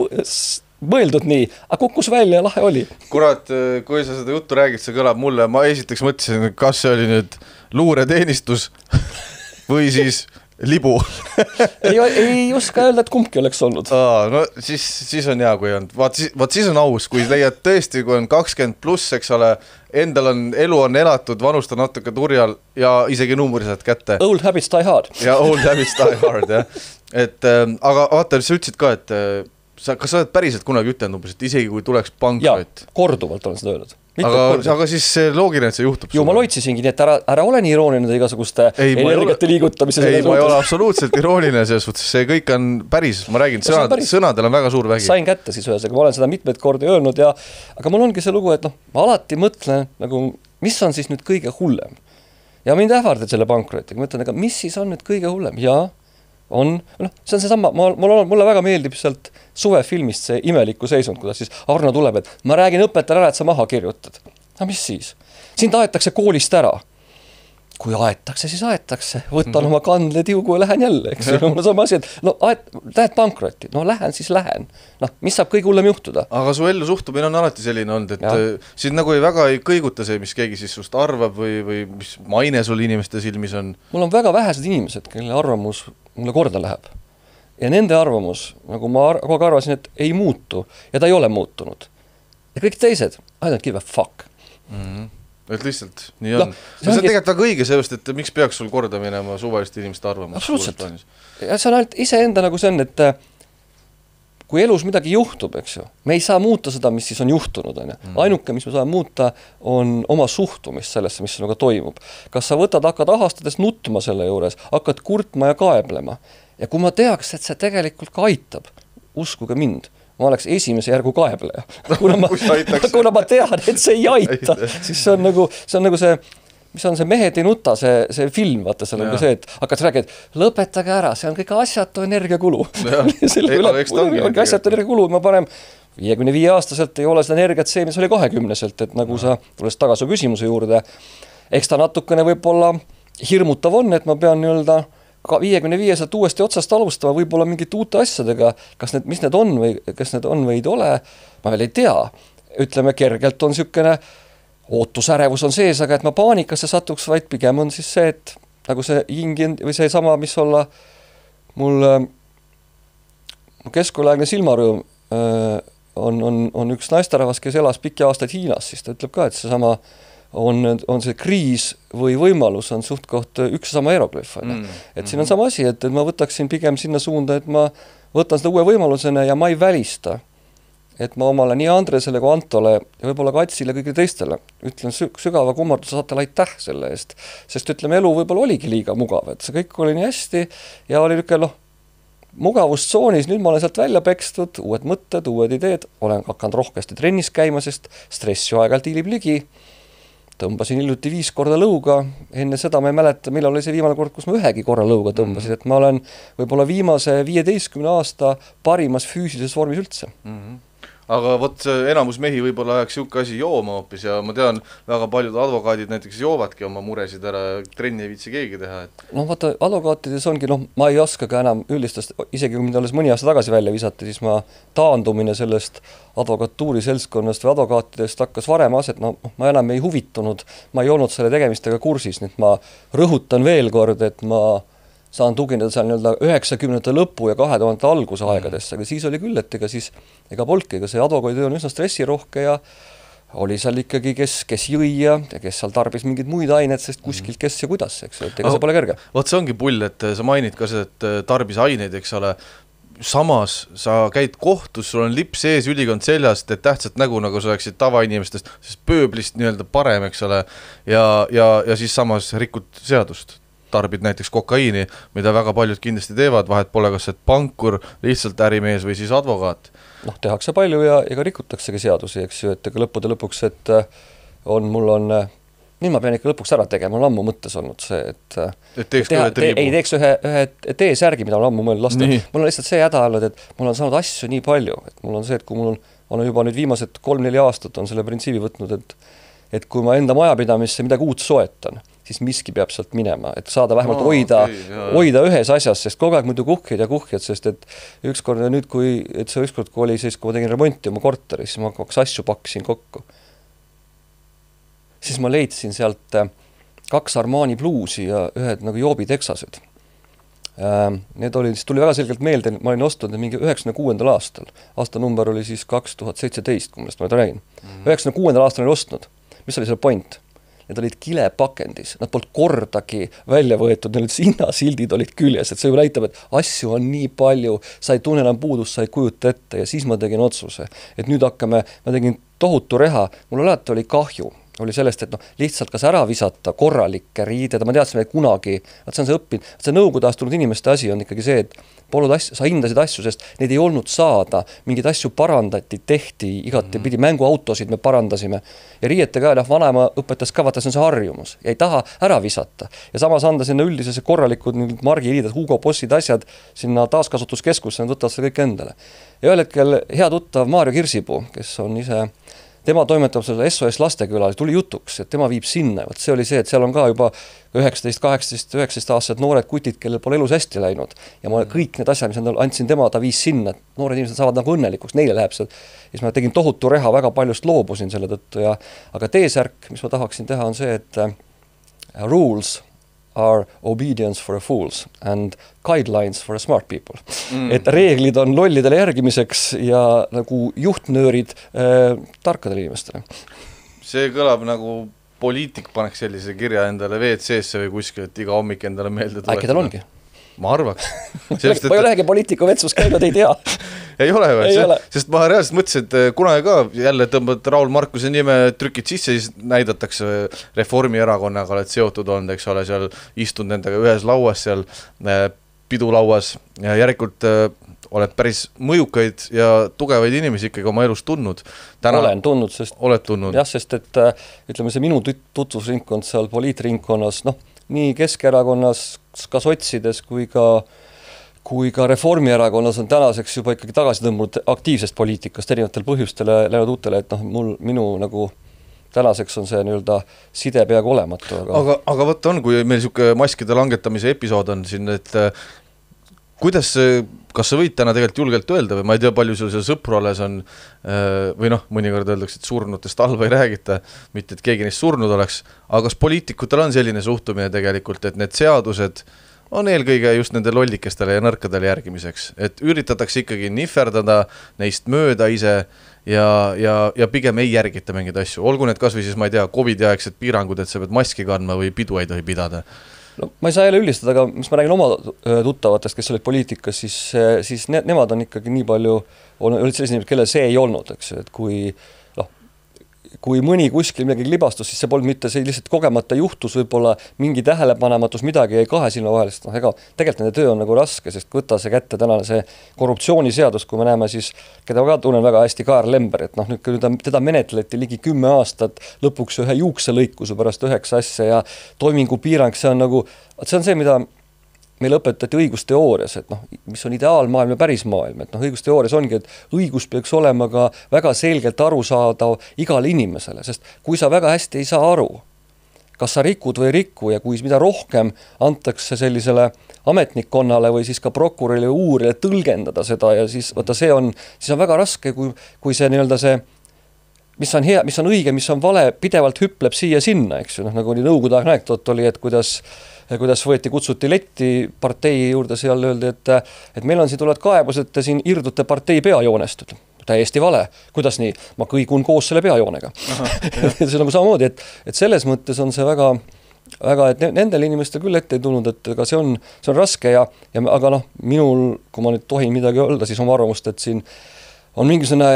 [SPEAKER 2] mõeldud nii, aga kukkus välja ja lahe oli.
[SPEAKER 1] Kurat, kui sa seda juttu räägid, see kõlab mulle, ma esiteks mõtlesin, kas see oli nüüd luureteenistus või siis libu
[SPEAKER 2] ei, ei oska öelda, et kumbki oleks olnud.
[SPEAKER 1] Aa, no siis, siis on hea, kui on. Vaat, vaat siis on aus, kui leiad tõesti, kui on kakskümmend pluss, eks ole, endal on, elu on elatud, vanust on natuke turjal ja isegi numbri saad kätte.
[SPEAKER 2] Old habits die hard.
[SPEAKER 1] Ja old habits die hard, jah. Et, äh, aga vaata, sa ütlesid ka, et äh, sa, kas sa oled päriselt kunagi ütelnud umbes, et isegi kui tuleks pankrot?
[SPEAKER 2] Jaa, korduvalt olen seda öelnud.
[SPEAKER 1] Aga, aga siis loogiline, et see juhtub.
[SPEAKER 2] Ju ma loitsisingi, nii et ära, ära ole nii irooniline igasuguste ei, energiate liigutamise.
[SPEAKER 1] Ei, ma ei ole absoluutselt irooniline selles suhtes, see kõik on päris, ma räägin, sõnad, sõnadel on väga suur vägi.
[SPEAKER 2] Sain kätte siis ühes, aga ma olen seda mitmeid kordi öelnud ja, aga mul ongi see lugu, et noh, ma alati mõtlen, nagu, mis on siis nüüd kõige hullem. Ja mind ähvardad selle pankrotiga, ma ütlen, aga mis siis on nüüd kõige hullem? Ja on, noh, see on see sama, ma, mulle, mulle väga meeldib sealt suvefilmist see imeliku seisund, kuidas siis Arno tuleb, et ma räägin õpetajale ära, et sa maha kirjutad. No mis siis? Sind aetakse koolist ära. Kui aetakse, siis aetakse. Võtan mm-hmm. oma kandle tiugu ja lähen jälle, eks. Mul on sama asi, et no aet, lähed pankrotti. No lähen, siis lähen. Noh, mis saab kõige hullem juhtuda? Aga
[SPEAKER 1] su ellu suhtumine on alati selline olnud, et ja. Sind nagu ei väga ei kõiguta see, mis keegi siis sust arvab või, või mis maine sul inimeste silmis on?
[SPEAKER 2] Mul on väga vähesed inimesed, kelle arvamus mulle korda läheb. Ja nende arvamus, nagu ma kogu arvasin, et ei muutu ja ta ei ole muutunud. Ja kõik teised, I don't give a fuck.
[SPEAKER 1] Mm-hmm. Et lihtsalt, nii on. No, see on tegelikult väga õige sellest, et miks peaks sul korda minema suvaliste inimeste arvamus?
[SPEAKER 2] Absoluutselt. Ja see on ainult iseenda nagu see on, et kui elus midagi juhtub, eks ju, me ei saa muuta seda, mis siis on juhtunud. Mm. Ainuke, mis me saame muuta, on oma suhtumist sellesse, mis sinuga toimub. Kas sa võtad, hakkad ahastades nutma selle juures, hakkad kurtma ja kaeblema. Ja kui ma teaks, et see tegelikult ka aitab, uskuge mind, ma oleks esimese järgu kaebleja. Kuna ma, kuna ma tean, et see ei aita, siis see on nagu see, on nagu see mis on see Mehed ei nuta, see, see film, vaata, seal on ka see, et hakkad rääkida, et lõpetage ära, see on kõik asjatu energiakulu. Selle üle, ongi asjatu energiakulu, ma panem viiekümne viie aastaselt ei ole seda energiat see, mis oli kahekümneselt, et nagu sa tulles tagasi küsimuse juurde, eks ta natukene võib-olla hirmutav on, et ma pean nii-öelda viiekümne viieselt uuesti otsast alustama, võib-olla mingite uute asjadega, kas need, mis need on või kas need on või ei ole, ma veel ei tea. Ütleme, kergelt on sükene ootusärevus on sees, aga et ma paanikasse satuks, vaid pigem on siis see, et nagu see ingin, või see sama, mis olla mul keskkooliaegne silmarõõm on, on, on üks naisterahvas, kes elas pikki aastaid Hiinas, siis ta ütleb ka, et see sama on, on see kriis või võimalus on suht koht üks sama eroglüf. Mm. Et siin on sama asi, et, et ma võtaksin pigem sinna suunda, et ma võtan seda uue võimalusena ja ma ei välista, et ma omale nii Andresele kui Antole ja võib-olla ka Atsile kõigile teistele ütlen sügava kummarduse saatele aitäh selle eest, sest ütleme, elu võib-olla oligi liiga mugav, et see kõik oli nii hästi ja oli niisugune noh, mugavustsoonis, nüüd ma olen sealt välja pekstud, uued mõtted, uued ideed, olen hakanud rohkesti trennis käima, sest stress ju aeg-ajalt hiilib ligi, tõmbasin hiljuti viis korda lõuga, enne seda ma ei mäleta, millal oli see viimane kord, kus ma ühegi korra lõuga tõmbasin, et ma olen võib-olla viimase viieteistkümne aasta parimas füüsilises vormis üldse.
[SPEAKER 1] Mm-hmm. Aga vot enamus mehi võib-olla ajaks siuke asi jooma hoopis ja ma tean, väga paljud advokaadid näiteks joovadki oma muresid ära, trenni ei viitsi keegi teha. Et...
[SPEAKER 2] No vaata, advokaatides ongi, noh, ma ei oska ka enam üldistest, isegi kui mind alles mõni aasta tagasi välja visati, siis ma taandumine sellest advokatuuri seltskonnast või advokaatidest hakkas varem aset, no ma enam ei huvitunud, ma ei olnud selle tegemistega kursis, nüüd ma rõhutan veel kord, et ma saan tugineda seal nii-öelda üheksakümnendate lõpu ja kahe tuhande alguse aegadesse, aga siis oli küll, et ega siis, ega polki, ega see advokaadi on üsna stressirohke ja oli seal ikkagi, kes, kes jõi ja kes seal tarbis mingeid muid aineid, sest kuskilt kes ja kuidas, eks, et ega see pole kerge.
[SPEAKER 1] Vot see ongi pull, et sa mainid ka see, et tarbis aineid, eks ole, samas sa käid kohtus, sul on lips ees, ülikond seljast, et tähtsat nägu, nagu sa oleksid tavainimestest, sest pööblist nii-öelda parem, eks ole, ja, ja, ja siis samas rikud seadust. Tarbid näiteks kokaiini, mida väga paljud kindlasti teevad, vahet pole kas et pankur, lihtsalt ärimees või siis advokaat.
[SPEAKER 2] Noh, tehakse palju ja ega rikutaksegi seadusi, eks ju, et ega lõppude lõpuks, et on, mul on, nüüd ma pean ikka lõpuks ära tegema, mul on ammu mõttes olnud see, et,
[SPEAKER 1] et teeks
[SPEAKER 2] teha, te, ei teeks ühe, ühe teesärgi, mida on ammu mõelnud lasta. Mul on lihtsalt see häda olnud, et mul on saanud asju nii palju, et mul on see, et kui mul on, on juba nüüd viimased kolm-neli aastat on selle printsiibi võtnud, et, et kui ma enda majapidamisse midagi uut soetan, siis miski peab sealt minema, et saada vähemalt no, hoida, okay, hoida ühes asjas, sest kogu aeg muidu kuhkid ja kuhkid, sest et ükskord nüüd, kui, et see ükskord, kui oli siis, kui ma tegin remonti oma korteris, siis ma kaks asju pakkisin kokku. Siis ma leidsin sealt kaks Armani bluusi ja ühed nagu Joobi teksased. Need oli, siis tuli väga selgelt meelde, ma olin ostnud mingi üheksakümne kuuendal aastal. Aasta number oli siis kaks tuhat seitseteist, kui millest ma nüüd räägin. üheksakümne kuuendal aastal olin ostnud. Mis oli selle point? Need olid kilepakendis, nad polnud kordagi välja võetud, need hinnasildid olid küljes, et see ju näitab, et asju on nii palju, sa ei tunne enam puudust, sa ei kujuta ette ja siis ma tegin otsuse, et nüüd hakkame, ma tegin tohutu reha, mul alati oli kahju, oli sellest, et noh, lihtsalt kas ära visata korralikke riided, ma teadsin, et kunagi, et see on see õppinud, see nõukogude ajast tulnud inimeste asi on ikkagi see, et polnud asju, sa hindasid asju, sest neid ei olnud saada, mingeid asju parandati, tehti, igati pidi, mänguautosid me parandasime ja riiete ka, noh, vanema õpetas ka, vaata, see on see harjumus ja ei taha ära visata ja samas anda sinna üldisesse korralikud margiriided, Hugo Bossid asjad sinna taaskasutuskeskusse, nad võtavad seda kõik endale. Ja ühel hetkel hea tuttav Maarjo Kirsipuu, kes on ise tema toimetab selle S O S Lastekülal, tuli jutuks, et tema viib sinna, et see oli see, et seal on ka juba üheksateist, kaheksateist, üheksateist aastased noored kutid, kellel pole elus hästi läinud ja ma kõik need asjad, mis andsin tema, ta viis sinna, et noored inimesed saavad nagu õnnelikuks, neile läheb see, ja siis ma tegin tohutu reha, väga paljust loobusin selle tõttu ja aga teesärk, mis ma tahaksin teha, on see, et uh, rules are obedience for a fools and guidelines for a smart people. Mm. Et reeglid on lollidele järgimiseks ja nagu juhtnöörid äh, tarkadele inimestele.
[SPEAKER 1] See kõlab nagu poliitik paneks sellise kirja endale V C S-e või kuskil, et iga hommik endale meelde tuletada.
[SPEAKER 2] Äkki tal ongi?
[SPEAKER 1] Ma arvaks.
[SPEAKER 2] Sest, ma ei olegi poliitiku vetsus käinud, ei tea.
[SPEAKER 1] ei ole või? Sest ma reaalselt mõtlesin, et kunagi ka jälle tõmbad Raul Markuse nime, trükid sisse, siis näidatakse Reformierakonnaga oled seotud olnud, eks ole, seal istud nendega ühes lauas, seal pidulauas ja järelikult oled päris mõjukaid ja tugevaid inimesi ikkagi oma elus tundnud.
[SPEAKER 2] Täna olen tundnud, sest,
[SPEAKER 1] oled tundnud.
[SPEAKER 2] Jah, sest et ütleme, see minu tutvusringkond seal poliitringkonnas, noh, nii Keskerakonnas, ka sotsides kui ka, kui ka Reformierakonnas on tänaseks juba ikkagi tagasi tõmbunud aktiivsest poliitikast erinevatel põhjustele läinud uutele, et noh, mul, minu nagu tänaseks on see nii-öelda side peaaegu olematu.
[SPEAKER 1] Aga, aga, aga võtta on, kui meil niisugune maskide langetamise episood on siin, et kuidas, kas sa võid täna tegelikult julgelt öelda või ma ei tea, palju sul seal sõpru alles on või noh, mõnikord öeldakse, et surnutest halva ei räägita, mitte et keegi neist surnud oleks, aga kas poliitikutel on selline suhtumine tegelikult, et need seadused on eelkõige just nende lollikestele ja nõrkadele järgimiseks, et üritatakse ikkagi nihverdada neist mööda ise ja, ja, ja pigem ei järgita mingeid asju, olgu need kas või siis, ma ei tea, Covidi aegsed piirangud, et sa pead maski kandma või pidu ei tohi pidada.
[SPEAKER 2] No, ma ei saa jälle üldistada, aga mis ma räägin oma tuttavatest, kes olid poliitikas, siis, siis ne, nemad on ikkagi nii palju, on olid sellised inimesed, kellel see ei olnud, eks, et kui, noh, kui mõni kuskil midagi libastus, siis see polnud mitte see lihtsalt kogemata juhtus, võib-olla mingi tähelepanematus, midagi jäi kahe silma vahel, sest noh, ega tegelikult nende töö on nagu raske, sest võtta see kätte tänane see korruptsiooniseadus, kui me näeme siis, keda ka tunnen väga hästi, Kaar Lember, et noh, nüüd teda, teda menetleti ligi kümme aastat, lõpuks ühe juukselõikuse pärast üheksa asja ja toimingu piirang, see on nagu, see on see, mida meil õpetati õigusteoorias, et noh, mis on ideaalmaailm ja päris maailm, et noh, õigusteoorias ongi, et õigus peaks olema ka väga selgelt arusaadav igale inimesele, sest kui sa väga hästi ei saa aru, kas sa rikud või riku ja kui mida rohkem antakse sellisele ametnikkonnale või siis ka prokurörile uurile tõlgendada seda ja siis, võtta, see on, siis on väga raske, kui, kui see nii-öelda see, mis on hea, mis on õige, mis on vale, pidevalt hüpleb siia sinna, eks ju, noh, nagu oli nõukogude aeg näektot oli, et kuidas kuidas võeti, kutsuti letti partei juurde, seal öeldi, et, et meil on siin tulevad kaebused, te siin irdute partei peajoonestud. Täiesti vale. Kuidas nii? Ma kõigun koos selle peajoonega. see on nagu samamoodi, et, et selles mõttes on see väga, väga, et nendel inimestel küll ette ei tulnud, et aga see on, see on raske ja, ja aga noh, minul, kui ma nüüd tohin midagi öelda, siis oma arvamust, et siin on mingisugune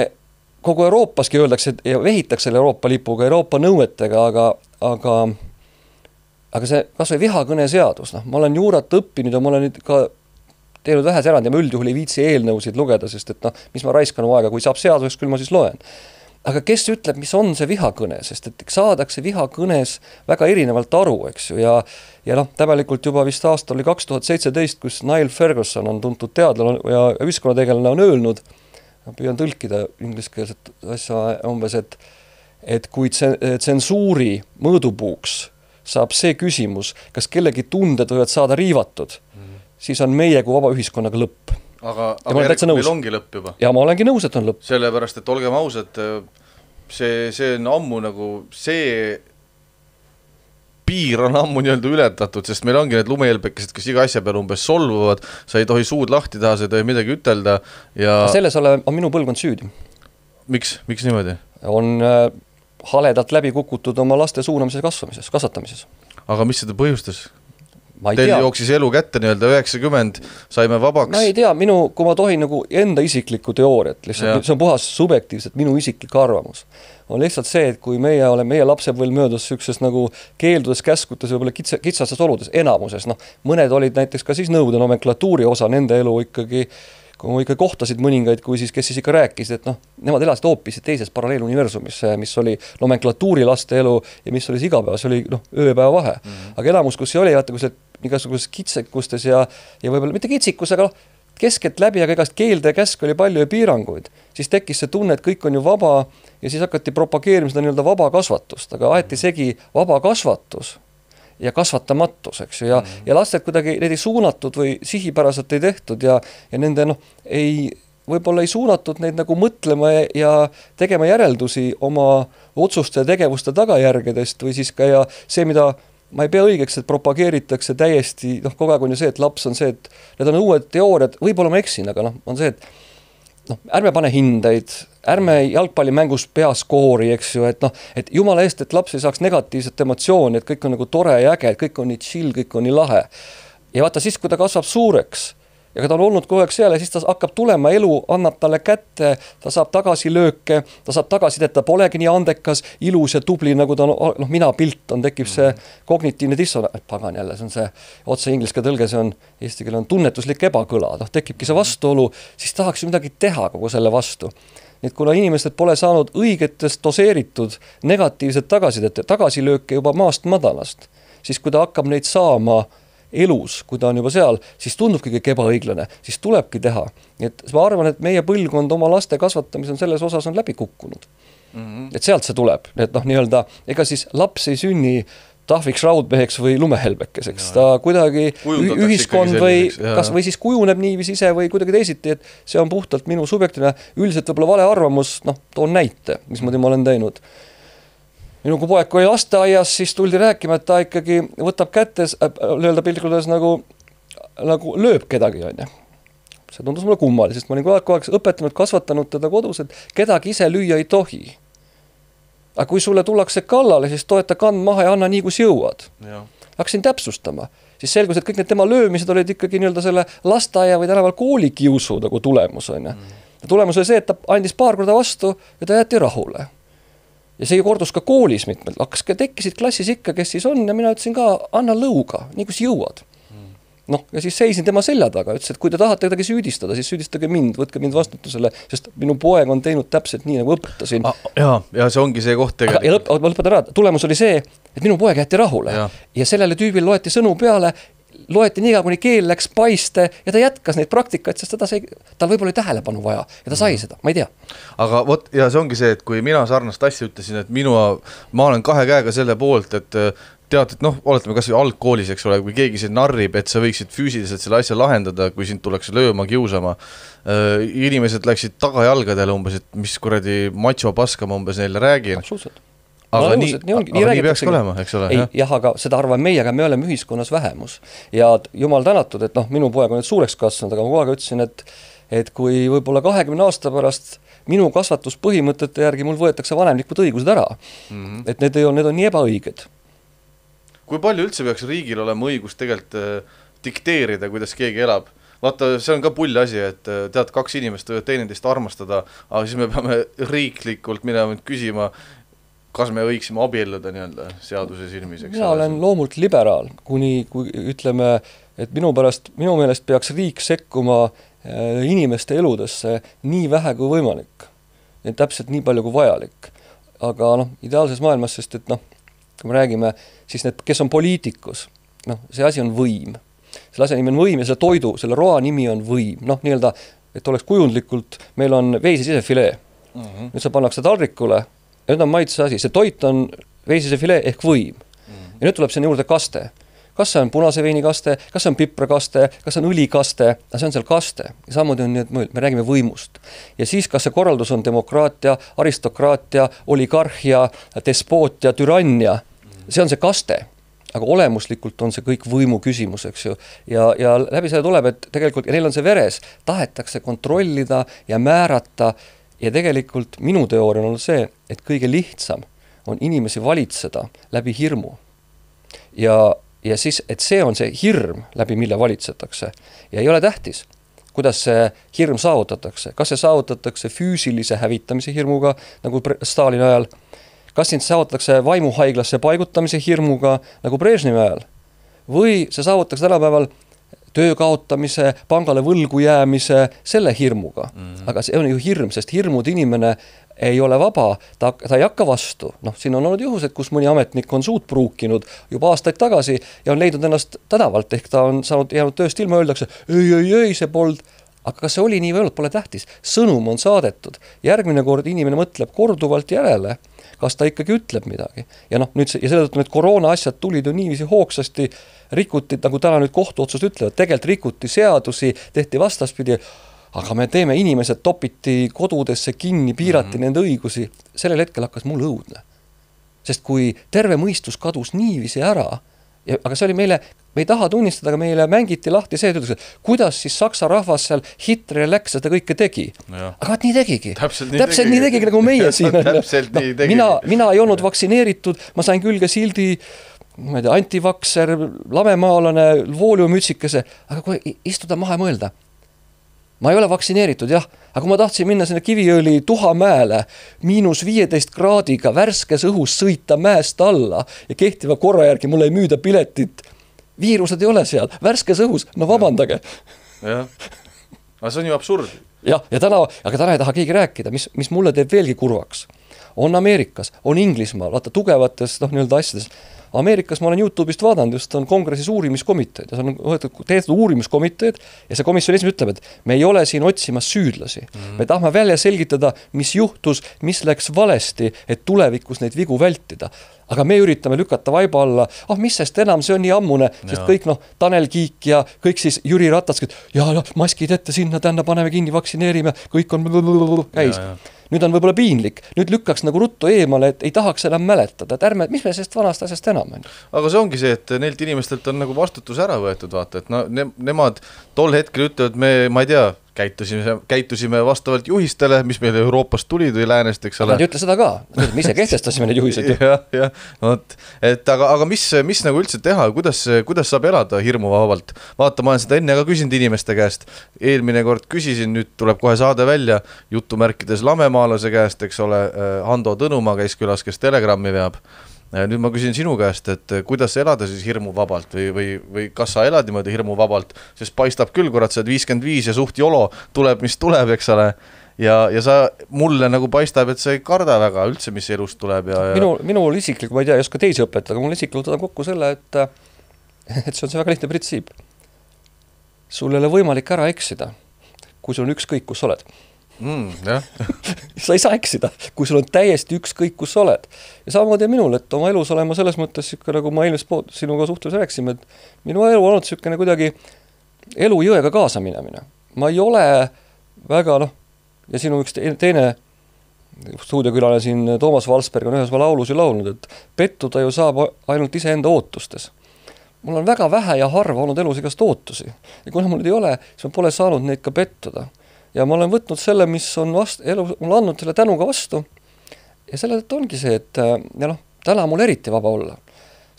[SPEAKER 2] kogu Euroopaski öeldakse, et ja vehitakse selle Euroopa lipuga, Euroopa nõuetega, aga, aga aga see kas või vihakõne seadus, noh, ma olen juurat õppinud ja ma olen nüüd ka teinud vähes erand ja ma üldjuhul ei viitsi eelnõusid lugeda, sest et noh, mis ma raiskan aega, kui saab seaduseks, küll ma siis loen. Aga kes ütleb, mis on see vihakõne, sest et saadakse vihakõnes väga erinevalt aru, eks ju, ja, ja noh, täbelikult juba vist aasta oli kaks tuhat seitseteist, kus Niall Ferguson on tuntud teadlane ja ühiskonnategelane on öelnud, ma püüan tõlkida ingliskeelset asja umbes, et, et kui tsensuuri mõõdupuuks saab see küsimus, kas kellegi tunded võivad saada riivatud, mm. siis on meie kui vaba ühiskonnaga lõpp.
[SPEAKER 1] Aga, aga järg, meil ongi lõpp juba.
[SPEAKER 2] Ja ma olengi nõus, et on lõpp.
[SPEAKER 1] Sellepärast, et olgem ausad, see, see on ammu nagu see piir on ammu nii-öelda ületatud, sest meil ongi need lumehelbekesed, kes iga asja peal umbes solvuvad, sa ei tohi suud lahti taha, sa ei tohi midagi ütelda ja...
[SPEAKER 2] Selles ole, on minu põlvkond süüdi.
[SPEAKER 1] Miks? Miks niimoodi?
[SPEAKER 2] On äh, haledalt läbi kukutud oma laste suunamises kasvamises, kasvatamises.
[SPEAKER 1] Aga mis seda põhjustas?
[SPEAKER 2] Teil
[SPEAKER 1] tea. Jooksis elu kätte nii-öelda üheksakümmend, saime vabaks.
[SPEAKER 2] Ma ei tea, minu, kui ma tohin nagu enda isiklikku teooriat, lihtsalt, see on puhas subjektiivselt minu isiklik arvamus, on lihtsalt see, et kui meie oleme, meie lapsed veel möödas sükses nagu keeldudes, käskutes, võib-olla kitsa, kitsastes oludes, enamuses, noh, mõned olid näiteks ka siis nõude nomenklatuuri osa, nende elu ikkagi, kui ma ikka kohtasid mõningaid, kui siis, kes siis ikka rääkisid, et noh, nemad elasid hoopis teises paralleeluniversumis, mis oli nomenklatuuri laste elu ja mis oli igapäeva, see oli noh, ööpäeva vahe. Mm -hmm. Aga enamus, kus see oli, vaata, kui see igasuguses kitsekustes ja, ja võib-olla mitte kitsikus, aga noh, keskelt läbi, aga igast keelde ja käsk oli palju ja piiranguid, siis tekkis see tunne, et kõik on ju vaba ja siis hakati propageerima seda nii-öelda vaba kasvatust, aga aeti segi vaba kasvatus ja kasvatamatus, eks ju, ja, mm. ja lasted kuidagi, need ei suunatud või sihipäraselt ei tehtud ja, ja nende noh, ei, võib-olla ei suunatud neid nagu mõtlema ja, ja tegema järeldusi oma otsuste ja tegevuste tagajärgedest või siis ka ja see, mida ma ei pea õigeks, et propageeritakse täiesti, noh, kogu aeg on ju see, et laps on see, et need on uued teooriad, võib-olla ma eksin, aga noh, on see, et noh, ärme pane hindeid, ärme jalgpallimängus peas koori, eks ju, et noh, et jumala eest, et laps ei saaks negatiivset emotsiooni, et kõik on nagu tore ja äge, et kõik on nii chill, kõik on nii lahe. Ja vaata siis, kui ta kasvab suureks ja kui ta on olnud kogu aeg seal ja siis ta hakkab tulema, elu annab talle kätte, ta saab tagasi lööke, ta saab tagasi, et ta polegi nii andekas, ilus ja tubli, nagu ta on, noh, mina pilt on, tekib see kognitiivne dissonants, pagan jälle, see on see otse ingliskeele tõlge, see on, eesti keele on tunnetuslik ebakõla, noh, tekibki see vastuolu, siis tahaks ju midagi teha kogu selle vastu. Nii et kuna inimesed pole saanud õigetest doseeritud negatiivset tagasidet, tagasilööke juba maast madalast, siis kui ta hakkab neid saama elus, kui ta on juba seal, siis tundubki kõik ebaõiglane, siis tulebki teha. Et ma arvan, et meie põlvkond oma laste kasvatamise on selles osas on läbi kukkunud. Mm -hmm. Et sealt see tuleb. Et noh, nii-öelda, ega siis laps ei sünni tahviks raudmeheks või lumehelbekeseks. Ta kuidagi ühiskond või, kas, või siis kujuneb niivis ise või kuidagi teisiti, et see on puhtalt minu subjektiivne, üldiselt võib-olla vale arvamus, noh, toon näite, mismoodi ma olen teinud. Minu kui poeg oli lasteaias, siis tuldi rääkima, et ta ikkagi võtab kättes, löölda piltikudes nagu, nagu lööb kedagi, on ju. See tundus mulle kummali, sest ma olin kogu aeg õpetanud, kasvatanud teda kodus, et kedagi ise lüüa ei tohi. Aga kui sulle tullakse kallale, siis toeta kand maha ja anna nii, kus jõuad. Hakkasin täpsustama. Siis selgus, et kõik need tema löömised olid ikkagi nii-öelda selle lasteaia või tänaval koolikiusu nagu tulemus, on ju. Ja tulemus oli see, et ta andis paar korda vastu ja ta jäeti rahule. Ja see kordus ka koolis mitmelt. Hakkas, tekkisid klassis ikka, kes siis on ja mina ütlesin ka, anna lõuga, nii kus jõuad. Noh, ja siis seisin tema selja taga, ütles, et kui te tahate kedagi süüdistada, siis süüdistage mind, võtke mind vastutusele, sest minu poeg on teinud täpselt nii, nagu õpetasin.
[SPEAKER 1] Ah, ja, ja see ongi see koht tegelikult.
[SPEAKER 2] Ja lõp, ma lõpetan ära, tulemus oli see, et minu poeg jäeti rahule ja, ja sellele tüübil loeti sõnu peale, loeti nii, kuni keel läks paiste ja ta jätkas neid praktikaid, sest ta sai, tal võib-olla oli tähelepanu vaja ja ta sai seda, ma ei tea.
[SPEAKER 1] Aga vot, ja see ongi see, et kui mina sarnast asja ütlesin, et minu, ma olen kahe käega selle poolt, et tead, et noh, oletame kas või algkoolis, eks ole, kui keegi sind narrib, et sa võiksid füüsiliselt selle asja lahendada, kui sind tuleks lööma, kiusama. Inimesed läksid tagajalgadele umbes, et mis kuradi macho paska ma umbes neile räägin.
[SPEAKER 2] Absoluutselt.
[SPEAKER 1] Aga, nii, nii, ongi, aga nii, nii peaks olema, eks ole.
[SPEAKER 2] Ei, jah, aga seda arvan meie, aga me oleme ühiskonnas vähemus. Ja jumal tänatud, et noh, minu poeg on nüüd suureks kasvanud, aga ma kogu aeg ütlesin, et, et kui võib-olla kahekümne aasta pärast minu kasvatuspõhimõtete järgi mul võetakse vanemlikud õigused ära, mm -hmm. et need, ei ole, need on nii ebaõiged.
[SPEAKER 1] Kui palju üldse peaks riigil olema õigus tegelikult äh, dikteerida, kuidas keegi elab? Vaata, see on ka pull asi, et tead, kaks inimest võivad teineteist armastada, aga siis me peame riiklikult minema küsima, kas me võiksime abielluda nii-öelda seaduse silmis?
[SPEAKER 2] Mina olen loomult liberaal, kuni kui ütleme, et minu pärast, minu meelest peaks riik sekkuma inimeste eludesse nii vähe kui võimalik. Ja täpselt nii palju kui vajalik. Aga noh, ideaalses maailmas, sest et noh, kui me räägime, siis need, kes on poliitikus, noh, see asi on võim. Selle asja nimi on võim ja selle toidu, selle roa nimi on võim. Noh, nii-öelda, et oleks kujundlikult, meil on veise sisefilee. Mm -hmm. Nüüd sa pannakse taldrikule ja nüüd on maitse asi. See toit on veisise filee ehk võim. Mm -hmm. Ja nüüd tuleb sinna juurde kaste. Kas see on punase veini kaste, kas see on piprakaste, kas see on õlikaste, see on seal kaste. Ja samamoodi on need mõjud, me räägime võimust. Ja siis, kas see korraldus on demokraatia, aristokraatia, oligarhia, despootia, türannia, see on see kaste. aga olemuslikult on see kõik võimu küsimus, eks ju. Ja, ja läbi selle tuleb, et tegelikult, ja neil on see veres, tahetakse kontrollida ja määrata ja tegelikult minu teooria on olnud see, et kõige lihtsam on inimesi valitseda läbi hirmu. Ja, ja siis, et see on see hirm, läbi mille valitsetakse. Ja ei ole tähtis, kuidas see hirm saavutatakse. Kas see saavutatakse füüsilise hävitamise hirmuga, nagu Stalini ajal, kas sind saavutatakse vaimuhaiglasse paigutamise hirmuga nagu Brežnevi ajal või see saavutatakse tänapäeval töö kaotamise, pangale võlgu jäämise selle hirmuga. Mm-hmm. Aga see on ju hirm, sest hirmud inimene ei ole vaba, ta, ta ei hakka vastu. Noh, siin on olnud juhused, kus mõni ametnik on suud pruukinud juba aastaid tagasi ja on leidnud ennast tänavalt, ehk ta on saanud jäänud tööst ilma, öeldakse, ei, ei, ei, see pold. Aga kas see oli nii või olnud, pole tähtis. Sõnum on saadetud. Järgmine kord inimene mõtleb korduvalt järele, kas ta ikkagi ütleb midagi. Ja noh, nüüd see, ja selle tõttu need koroona asjad tulid ju niiviisi hoogsasti, rikuti, nagu täna nüüd kohtuotsus ütlevad, tegelikult rikuti seadusi, tehti vastaspidi, aga me teeme, inimesed topiti kodudesse kinni, piirati mm-hmm. nende õigusi. Sellel hetkel hakkas mul õudne. Sest kui terve mõistus kadus niiviisi ära, ja, aga see oli meile, me ei taha tunnistada, aga meile mängiti lahti see, et kuidas siis Saksa rahvas seal Hitleri läks, seda kõike tegi. Ja. Aga nii tegigi.
[SPEAKER 1] Täpselt nii,
[SPEAKER 2] Täpselt nii tegigi, nagu meie siin.
[SPEAKER 1] Täpselt no, nii tegigi.
[SPEAKER 2] Mina, mina ei olnud vaktsineeritud, ma sain külge sildi, ma ei tea, antivakser, lamemaalane, vooliumütsikese, aga kui istuda maha ja mõelda, ma ei ole vaktsineeritud, jah, aga kui ma tahtsin minna sinna Kiviõli Tuhamäele miinus viieteist kraadiga värskes õhus sõita mäest alla ja kehtiva korra järgi mulle ei müüda piletit, viirused ei ole seal, värskes õhus, no vabandage.
[SPEAKER 1] Jah, aga see on ju absurd.
[SPEAKER 2] Jah, ja täna, aga täna ei taha keegi rääkida, mis, mis mulle teeb veelgi kurvaks. On Ameerikas, on Inglismaal, vaata tugevates, noh, nii-öelda asjades. Ameerikas ma olen YouTube'ist vaadanud, just on kongressis uurimiskomiteed ja see on tehtud uurimiskomiteed ja see komisjon esimene ütleb, et me ei ole siin otsimas süüdlasi. Mm-hmm. Me tahame välja selgitada, mis juhtus, mis läks valesti, et tulevikus neid vigu vältida. Aga me üritame lükata vaiba alla, ah, mis sest enam, see on nii ammune, sest ja. Kõik, noh, Tanel Kiik ja kõik siis Jüri Ratas, ja, ja maskid ette sinna, tänna paneme kinni, vaktsineerime, kõik on käis. Ja, ja. Nüüd on võib-olla piinlik, nüüd lükkaks nagu ruttu eemale, et ei tahaks enam mäletada, et ärme, mis me sellest vanast asjast enam on?
[SPEAKER 1] Aga see ongi see, et neilt inimestelt on nagu vastutus ära võetud, vaata, et no, ne, nemad tol hetkel ütlevad, me, ma ei tea, käitusime, käitusime vastavalt juhistele, mis meile Euroopast tulid või läänest, eks ole.
[SPEAKER 2] Nad ei ütle seda ka, me ise kehtestasime need juhised.
[SPEAKER 1] jah, jah, no, et aga, aga mis, mis nagu üldse teha, kuidas, kuidas saab elada hirmu vabalt? Vaata, ma olen seda enne ka küsinud inimeste käest, eelmine kord küsisin, nüüd tuleb kohe saade välja, jutumärkides lamemaalase käest, eks ole, Hando Tõnumaa käis külas, kes Telegrammi veab. Nüüd ma küsin sinu käest, et kuidas elada siis hirmu vabalt või, või, või kas sa elad niimoodi hirmu vabalt, sest paistab küll, kurat, sa oled viiskümmend viis ja suht jolo tuleb, mis tuleb, eks ole, ja, ja sa mulle nagu paistab, et sa ei karda väga üldse, mis elust tuleb. Ja, ja...
[SPEAKER 2] Minu, minul isiklik, ma ei tea, ei oska teisi õpetada, aga mul isiklikult on kokku selle, et, et see on see väga lihtne printsiip. Sul ei ole võimalik ära eksida, kui sul on ükskõik, kus oled. Mm, jah. sa ei saa eksida, kui sul on täiesti ükskõik, kus sa oled. Ja samamoodi minul, et oma elus olema selles mõttes, nagu ma eelmist pood, sinuga suhtluse rääksime, et minu elu on olnud sükene kuidagi elu jõega kaasa minemine. Ma ei ole väga, noh, ja sinu üks teine stuudiokülane siin Toomas Valsberg on ühes laulus ju laulnud, et pettuda ju saab ainult iseenda ootustes. Mul on väga vähe ja harva olnud elus igast ootusi. Ja kuna mul ei ole, siis ma pole saanud neid ka pettuda. Ja ma olen võtnud selle, mis on vast, elu, mul andnud selle tänuga vastu. Ja selle tõttu ongi see, et ja noh, täna mul eriti vaba olla.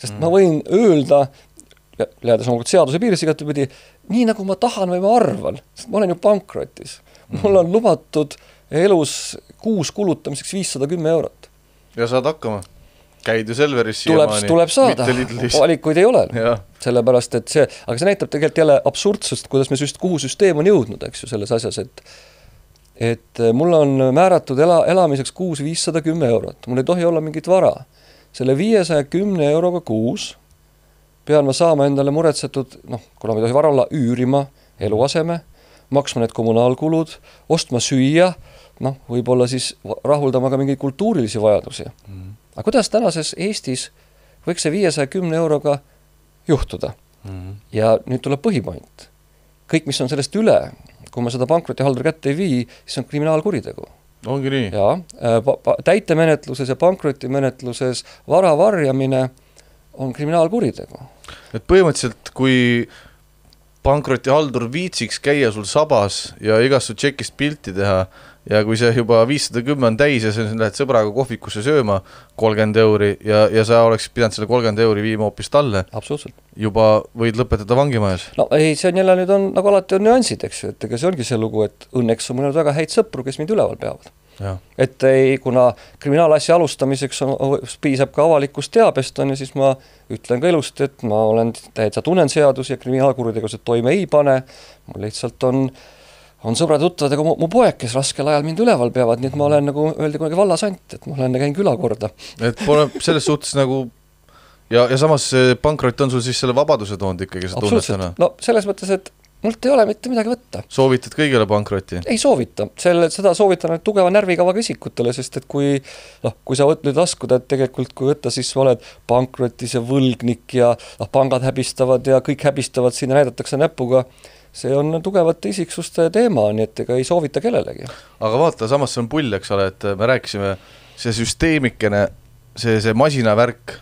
[SPEAKER 2] Sest mm. ma võin öelda, jäädes oma seaduse piiris igatepidi, nii nagu ma tahan või ma arvan. Sest ma olen ju pankrotis. Mm. Mul on lubatud elus kuus kulutamiseks viissada kümme eurot.
[SPEAKER 1] Ja saad hakkama? Käid ju Selveris
[SPEAKER 2] tuleb, tuleb saada, valikuid ei ole. Ja. Sellepärast, et see, aga see näitab tegelikult jälle absurdsust, kuidas me süst, kuhu süsteem on jõudnud, eks ju, selles asjas, et et mul on määratud ela, elamiseks kuus viissada kümme eurot. Mul ei tohi olla mingit vara. Selle viiesaja kümne euroga kuus pean ma saama endale muretsetud, noh, kuna ma ei tohi vara olla, üürima eluaseme, maksma need kommunaalkulud, ostma süüa, noh, võib-olla siis rahuldama ka mingeid kultuurilisi vajadusi. Mm. Aga kuidas tänases Eestis võiks see viiesaja kümne euroga juhtuda? Mm-hmm. Ja nüüd tuleb põhipoint. Kõik, mis on sellest üle, kui ma seda pankrotihalduri kätte ei vii, siis on kriminaalkuritegu.
[SPEAKER 1] Ongi nii?
[SPEAKER 2] Ja, täitemenetluses ja pankrotimenetluses vara varjamine on kriminaalkuritegu.
[SPEAKER 1] Et põhimõtteliselt, kui pankrotihaldur viitsiks käia sul sabas ja igast su tšekist pilti teha ja kui see juba viissada kümme on täis ja sa lähed sõbraga kohvikusse sööma kolmkümmend euri ja, ja sa oleks pidanud selle kolmkümmend euri viima hoopis talle,
[SPEAKER 2] absoluutselt.
[SPEAKER 1] Juba võid lõpetada vangimajas.
[SPEAKER 2] No ei, see on jälle nüüd on, nagu alati on nüansid, eks ju, et ega see ongi see lugu, et õnneks on mul väga häid sõpru, kes mind üleval peavad. Ja. Et ei, kuna kriminaalasja alustamiseks on, piisab ka avalikust teabest on ja siis ma ütlen ka ilusti, et ma olen täitsa tunnen seadusi ja kriminaalkuritegevused toime ei pane, mul lihtsalt on on sõbrad tuttavad, ega mu, mu poeg, kes raskel ajal mind üleval peavad, nii et ma olen nagu öeldi kunagi vallasant, et ma olen käin küla korda. Et
[SPEAKER 1] pole selles suhtes nagu ja, ja samas pankrot on sul siis selle vabaduse toonud ikkagi, sa tunned täna?
[SPEAKER 2] No selles mõttes, et mult ei ole mitte midagi võtta.
[SPEAKER 1] Soovitad kõigile pankrotti?
[SPEAKER 2] Ei soovita, selle, seda soovitan tugeva närvikavaga isikutele, sest et kui, no, kui sa võt, nüüd laskuda, et tegelikult kui võtta, siis sa oled pankrotis ja võlgnik ja no, pangad häbistavad ja kõik häbistavad, siin näidatakse näpuga, see on tugevate isiksuste teema, nii et ega ei soovita kellelegi.
[SPEAKER 1] Aga vaata, samas see on pull, eks ole, et me rääkisime, see süsteemikene, see, see masinavärk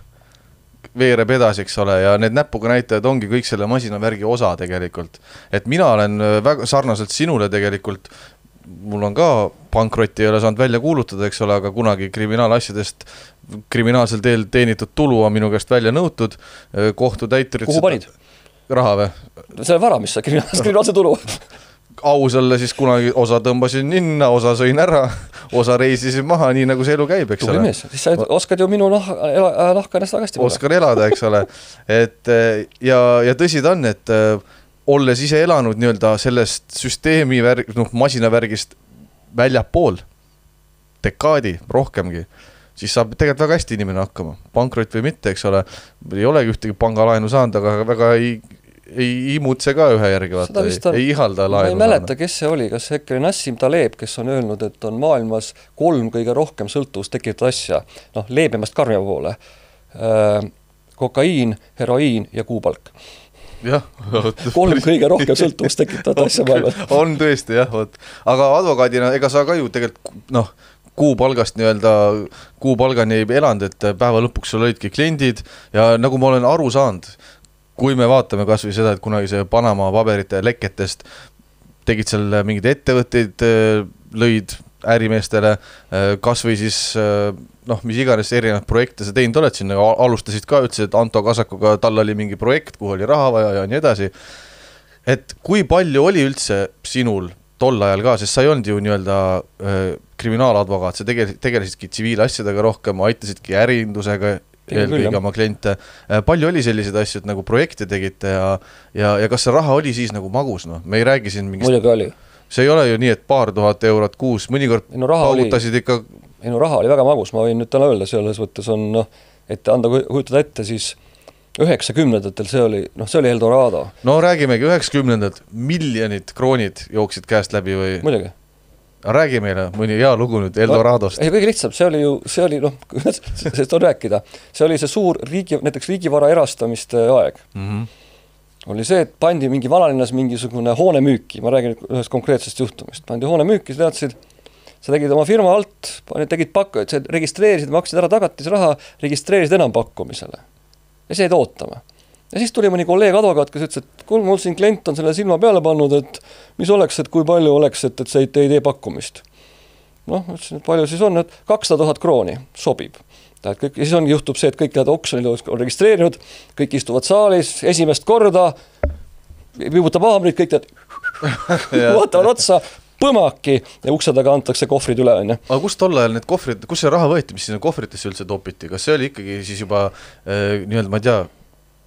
[SPEAKER 1] veereb edasi, eks ole, ja need näpuga näitajad ongi kõik selle masinavärgi osa tegelikult. Et mina olen väga sarnaselt sinule tegelikult, mul on ka pankrotti ei ole saanud välja kuulutada, eks ole, aga kunagi kriminaalasjadest kriminaalsel teel teenitud tulu on minu käest välja nõutud, kohtutäiturid...
[SPEAKER 2] Kuhu panid?
[SPEAKER 1] Raha või?
[SPEAKER 2] See vara, mis sa kriminaalse tulu.
[SPEAKER 1] Ausalle siis kunagi osa tõmbasin ninna, osa sõin ära, osa reisisin maha, nii nagu see elu käib, eks
[SPEAKER 2] ole. Mees, siis sa oskad ju minu nah, nahka ennast tagasti
[SPEAKER 1] võtta. Oskan elada, eks ole. Et, ja, ja tõsi ta on, et olles ise elanud nii-öelda sellest süsteemi värg, noh, masinavärgist väljapool, dekaadi, rohkemgi, siis saab tegelikult väga hästi inimene hakkama. Pankrot või mitte, eks ole, ei olegi ühtegi pangalaenu saanud, aga väga ei, ei imutse ka ühe järgi, vaata, ei, on, ei ihalda laenu.
[SPEAKER 2] Ma ei mäleta, saanud. Kes see oli, kas äkki Nassim Taleb, kes on öelnud, et on maailmas kolm kõige rohkem sõltuvust tekitatud asja, noh, leebemast karmia poole, äh, kokaiin, heroiin ja kuupalk.
[SPEAKER 1] Jah,
[SPEAKER 2] kolm kõige rohkem sõltuvust tekitatud asja maailmas.
[SPEAKER 1] On tõesti, jah, võt. Aga advokaadina, ega sa ka ju tegelikult, noh, kuupalgast nii-öelda, kuupalgani ei elanud, et päeva lõpuks sul olidki kliendid ja nagu ma olen aru saanud, kui me vaatame kas või seda, et kunagi see Panama paberite leketest tegid seal mingid ettevõtteid, lõid ärimeestele, kas või siis, noh, mis iganes erinevad projekte sa teinud oled sinna, alustasid ka, ütlesid, et Anto Kasakuga tal oli mingi projekt, kuhu oli raha vaja ja nii edasi. Et kui palju oli üldse sinul tol ajal ka, sest sa ei olnud ju nii-öelda äh, kriminaaladvokaat, sa tegel, tegelesidki tsiviilasjadega rohkem, aitasidki ärindusega eelkõige oma kliente. Äh, palju oli selliseid asju, et nagu projekte tegite ja, ja, ja kas see raha oli siis nagu magus, noh? Me ei räägi siin mingist...
[SPEAKER 2] Muidugi oli.
[SPEAKER 1] See ei ole ju nii, et paar tuhat eurot kuus, mõnikord
[SPEAKER 2] no,
[SPEAKER 1] paugutasid ikka...
[SPEAKER 2] No, raha oli väga magus, ma võin nüüd täna öelda, selles võttes on, noh, et anda kujutada ette, siis üheksakümnendatel see oli, noh, see oli Eldorado.
[SPEAKER 1] No räägimegi üheksakümnendad, miljonid kroonid jooksid käest läbi või...
[SPEAKER 2] Muidugi.
[SPEAKER 1] Räägi meile mõni hea lugu nüüd Eldoradost.
[SPEAKER 2] No, ei, kõige lihtsam, see oli ju, see oli, noh, sest on rääkida, see oli see suur riigi, näiteks riigivara erastamiste aeg. Mm-hmm. Oli see, et pandi mingi vanalinnas mingisugune hoone müüki, ma räägin ühest konkreetsest juhtumist, pandi hoone müüki, sa teadsid, sa tegid oma firma alt, tegid pakku, et sa registreerisid, maksid ära tagatis raha, registreerisid enam pakkumisele. Ja see jäid ootama. Ja siis tuli mõni kolleeg advokaat, kes ütles, et kuule, mul siin klient on selle silma peale pannud, et mis oleks, et kui palju oleks, et, et see ei tee pakkumist. Noh, ütlesin, et palju siis on, et kakssada tuhat krooni sobib. Kõik, ja siis on, juhtub see, et kõik need oksjonid on registreerinud, kõik istuvad saalis, esimest korda, viibutab haamrid, kõik need vaatavad otsa, põmaki ja ukse taga antakse kohvrid üle. On,
[SPEAKER 1] aga kus tol ajal need kohvrid, kus see raha võeti, mis sinna kohvritesse üldse topiti? Kas see oli ikkagi siis juba äh, nii-öelda, ma ei tea...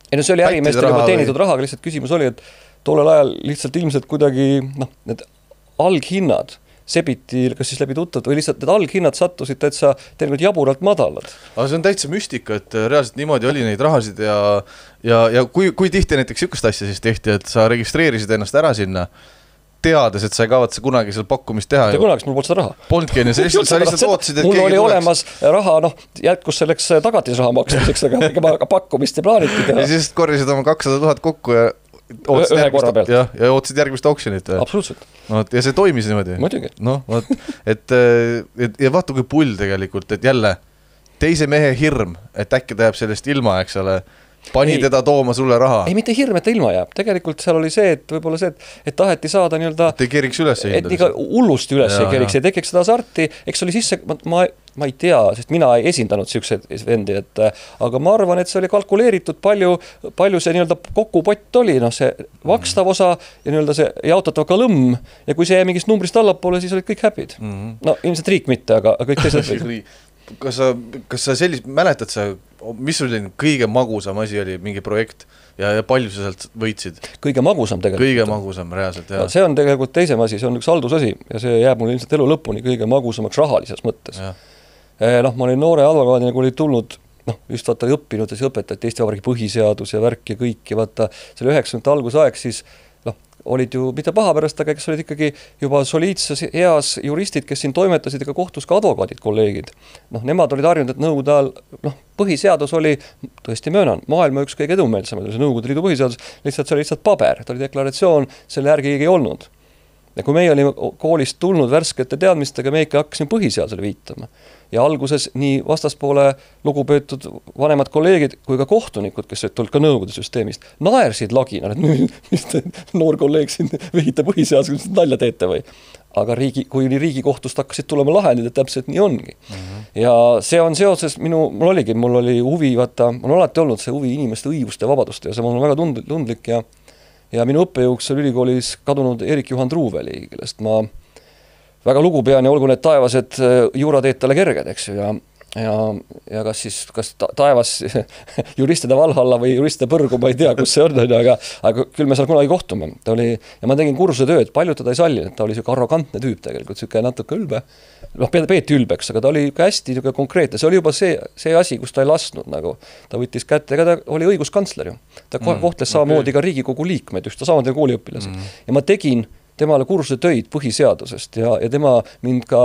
[SPEAKER 2] Ei, no see oli ärimeestele juba teenitud või... raha, aga lihtsalt küsimus oli, et tollel ajal lihtsalt ilmselt kuidagi, noh, need alghinnad sebiti, kas siis läbi tuttavad, või lihtsalt need alghinnad sattusid täitsa tegelikult jaburalt madalad.
[SPEAKER 1] Aga see on täitsa müstika, et reaalselt niimoodi oli neid rahasid ja, ja, ja kui, kui tihti näiteks sükust asja siis tehti, et sa registreerisid ennast ära sinna, teades, et sa ei kavatse kunagi seal pakkumist teha.
[SPEAKER 2] Mitte kunagi, mul polnud seda raha.
[SPEAKER 1] Polnudki, sa lihtsalt, sa lihtsalt ootasid, et
[SPEAKER 2] mul oli olemas raha, noh, jätkus selleks tagatisraha maksmiseks, aga pakkumist ei plaaniti teha.
[SPEAKER 1] Ja siis korjasid oma kakssada tuhat kokku ja ootasid,
[SPEAKER 2] ühe korra pealt.
[SPEAKER 1] Ja, ja ootasid järgmist auksjonit.
[SPEAKER 2] Absoluutselt.
[SPEAKER 1] No, ja see toimis niimoodi.
[SPEAKER 2] Muidugi.
[SPEAKER 1] No, vaat, et, et, ja vaata kui pull tegelikult, et jälle teise mehe hirm, et äkki ta jääb sellest ilma, eks ole, pani ei, teda tooma sulle raha.
[SPEAKER 2] Ei, mitte hirm, et ta ilma jääb. Tegelikult seal oli see, et võib-olla see, et, et taheti saada nii-öelda...
[SPEAKER 1] Et ei keriks üles
[SPEAKER 2] et iga hullusti üles ja, ei keriks, ei tekiks seda sarti. Eks oli sisse, ma, ma, ma ei tea, sest mina ei esindanud siukseid vendi, et aga ma arvan, et see oli kalkuleeritud palju, palju see nii-öelda kokkupott oli, noh see vakstav osa ja nii-öelda see jaotatav kalõmm ja kui see jäi mingist numbrist allapoole, siis olid kõik häpid. Mm-hmm. No ilmselt riik mitte, aga kõik teised
[SPEAKER 1] kas sa, kas sa sellist, mäletad sa, mis oli kõige magusam asi oli, mingi projekt ja, ja palju sa sealt võitsid?
[SPEAKER 2] Kõige magusam tegelikult.
[SPEAKER 1] Kõige magusam, reaalselt, jah.
[SPEAKER 2] No, see on tegelikult teisem asi, see on üks haldusasi ja see jääb mul ilmselt elu lõpuni kõige magusamaks rahalises mõttes. Eh, noh, ma olin noore advokaadina, kui oli tulnud, noh, just vaata õppinud ja siis õpetati Eesti Vabariigi põhiseadus ja värk ja kõik ja vaata, see oli üheksakümnendate algusaeg, siis olid ju mitte paha pärast, aga kes olid ikkagi juba soliidses eas juristid, kes siin toimetasid ega kohtus ka advokaadid, kolleegid. Noh, nemad olid harjunud, et nõukogude ajal, noh, põhiseadus oli, tõesti möönan, maailma üks kõige edumeelsemaid, see Nõukogude Liidu põhiseadus, lihtsalt see oli lihtsalt paber, ta oli deklaratsioon, selle järgi ei olnud. Ja kui meie olime koolist tulnud värskete teadmistega, me ikka hakkasime põhiseadusele viitama. Ja alguses nii vastaspoole lugupeetud vanemad kolleegid kui ka kohtunikud, kes olid tulnud ka nõukogude süsteemist, naersid lagina, et mis te noor kolleeg siin vihite põhiseadusega, mis nalja teete või. Aga riigi, kui riigikohtust hakkasid tulema lahendid, et täpselt nii ongi. Mm-hmm. Ja see on seoses minu, mul oligi, mul oli huvi, vaata, mul on alati olnud see huvi inimeste õiguste ja vabaduste ja see on väga tundlik ja Ja minu õppejõuks oli ülikoolis kadunud Erik Juhan Truuveli, kellest ma väga lugu pean ja olgu need taevased juura teed talle kerged, eks ju, ja, ja, ja kas siis, kas taevas juristide Valhalla või juristide Põrgu, ma ei tea, kus see on, aga, aga küll me seal kunagi kohtume. Ta oli, ja ma tegin kursuse tööd, palju teda ei sallinud, ta oli selline arrogantne tüüp tegelikult, selline natuke ülbe, noh, peeti ülbeks, aga ta oli ka hästi konkreetne, see oli juba see, see asi, kus ta ei lasnud, nagu ta võttis kätte, ega ta oli õiguskantsler ju. Ta mm, kohtles samamoodi okay. ka Riigikogu liikmed, just ta samamoodi kooliõpilased. Mm. Ja ma tegin temale kursuse töid põhiseadusest ja, ja tema mind ka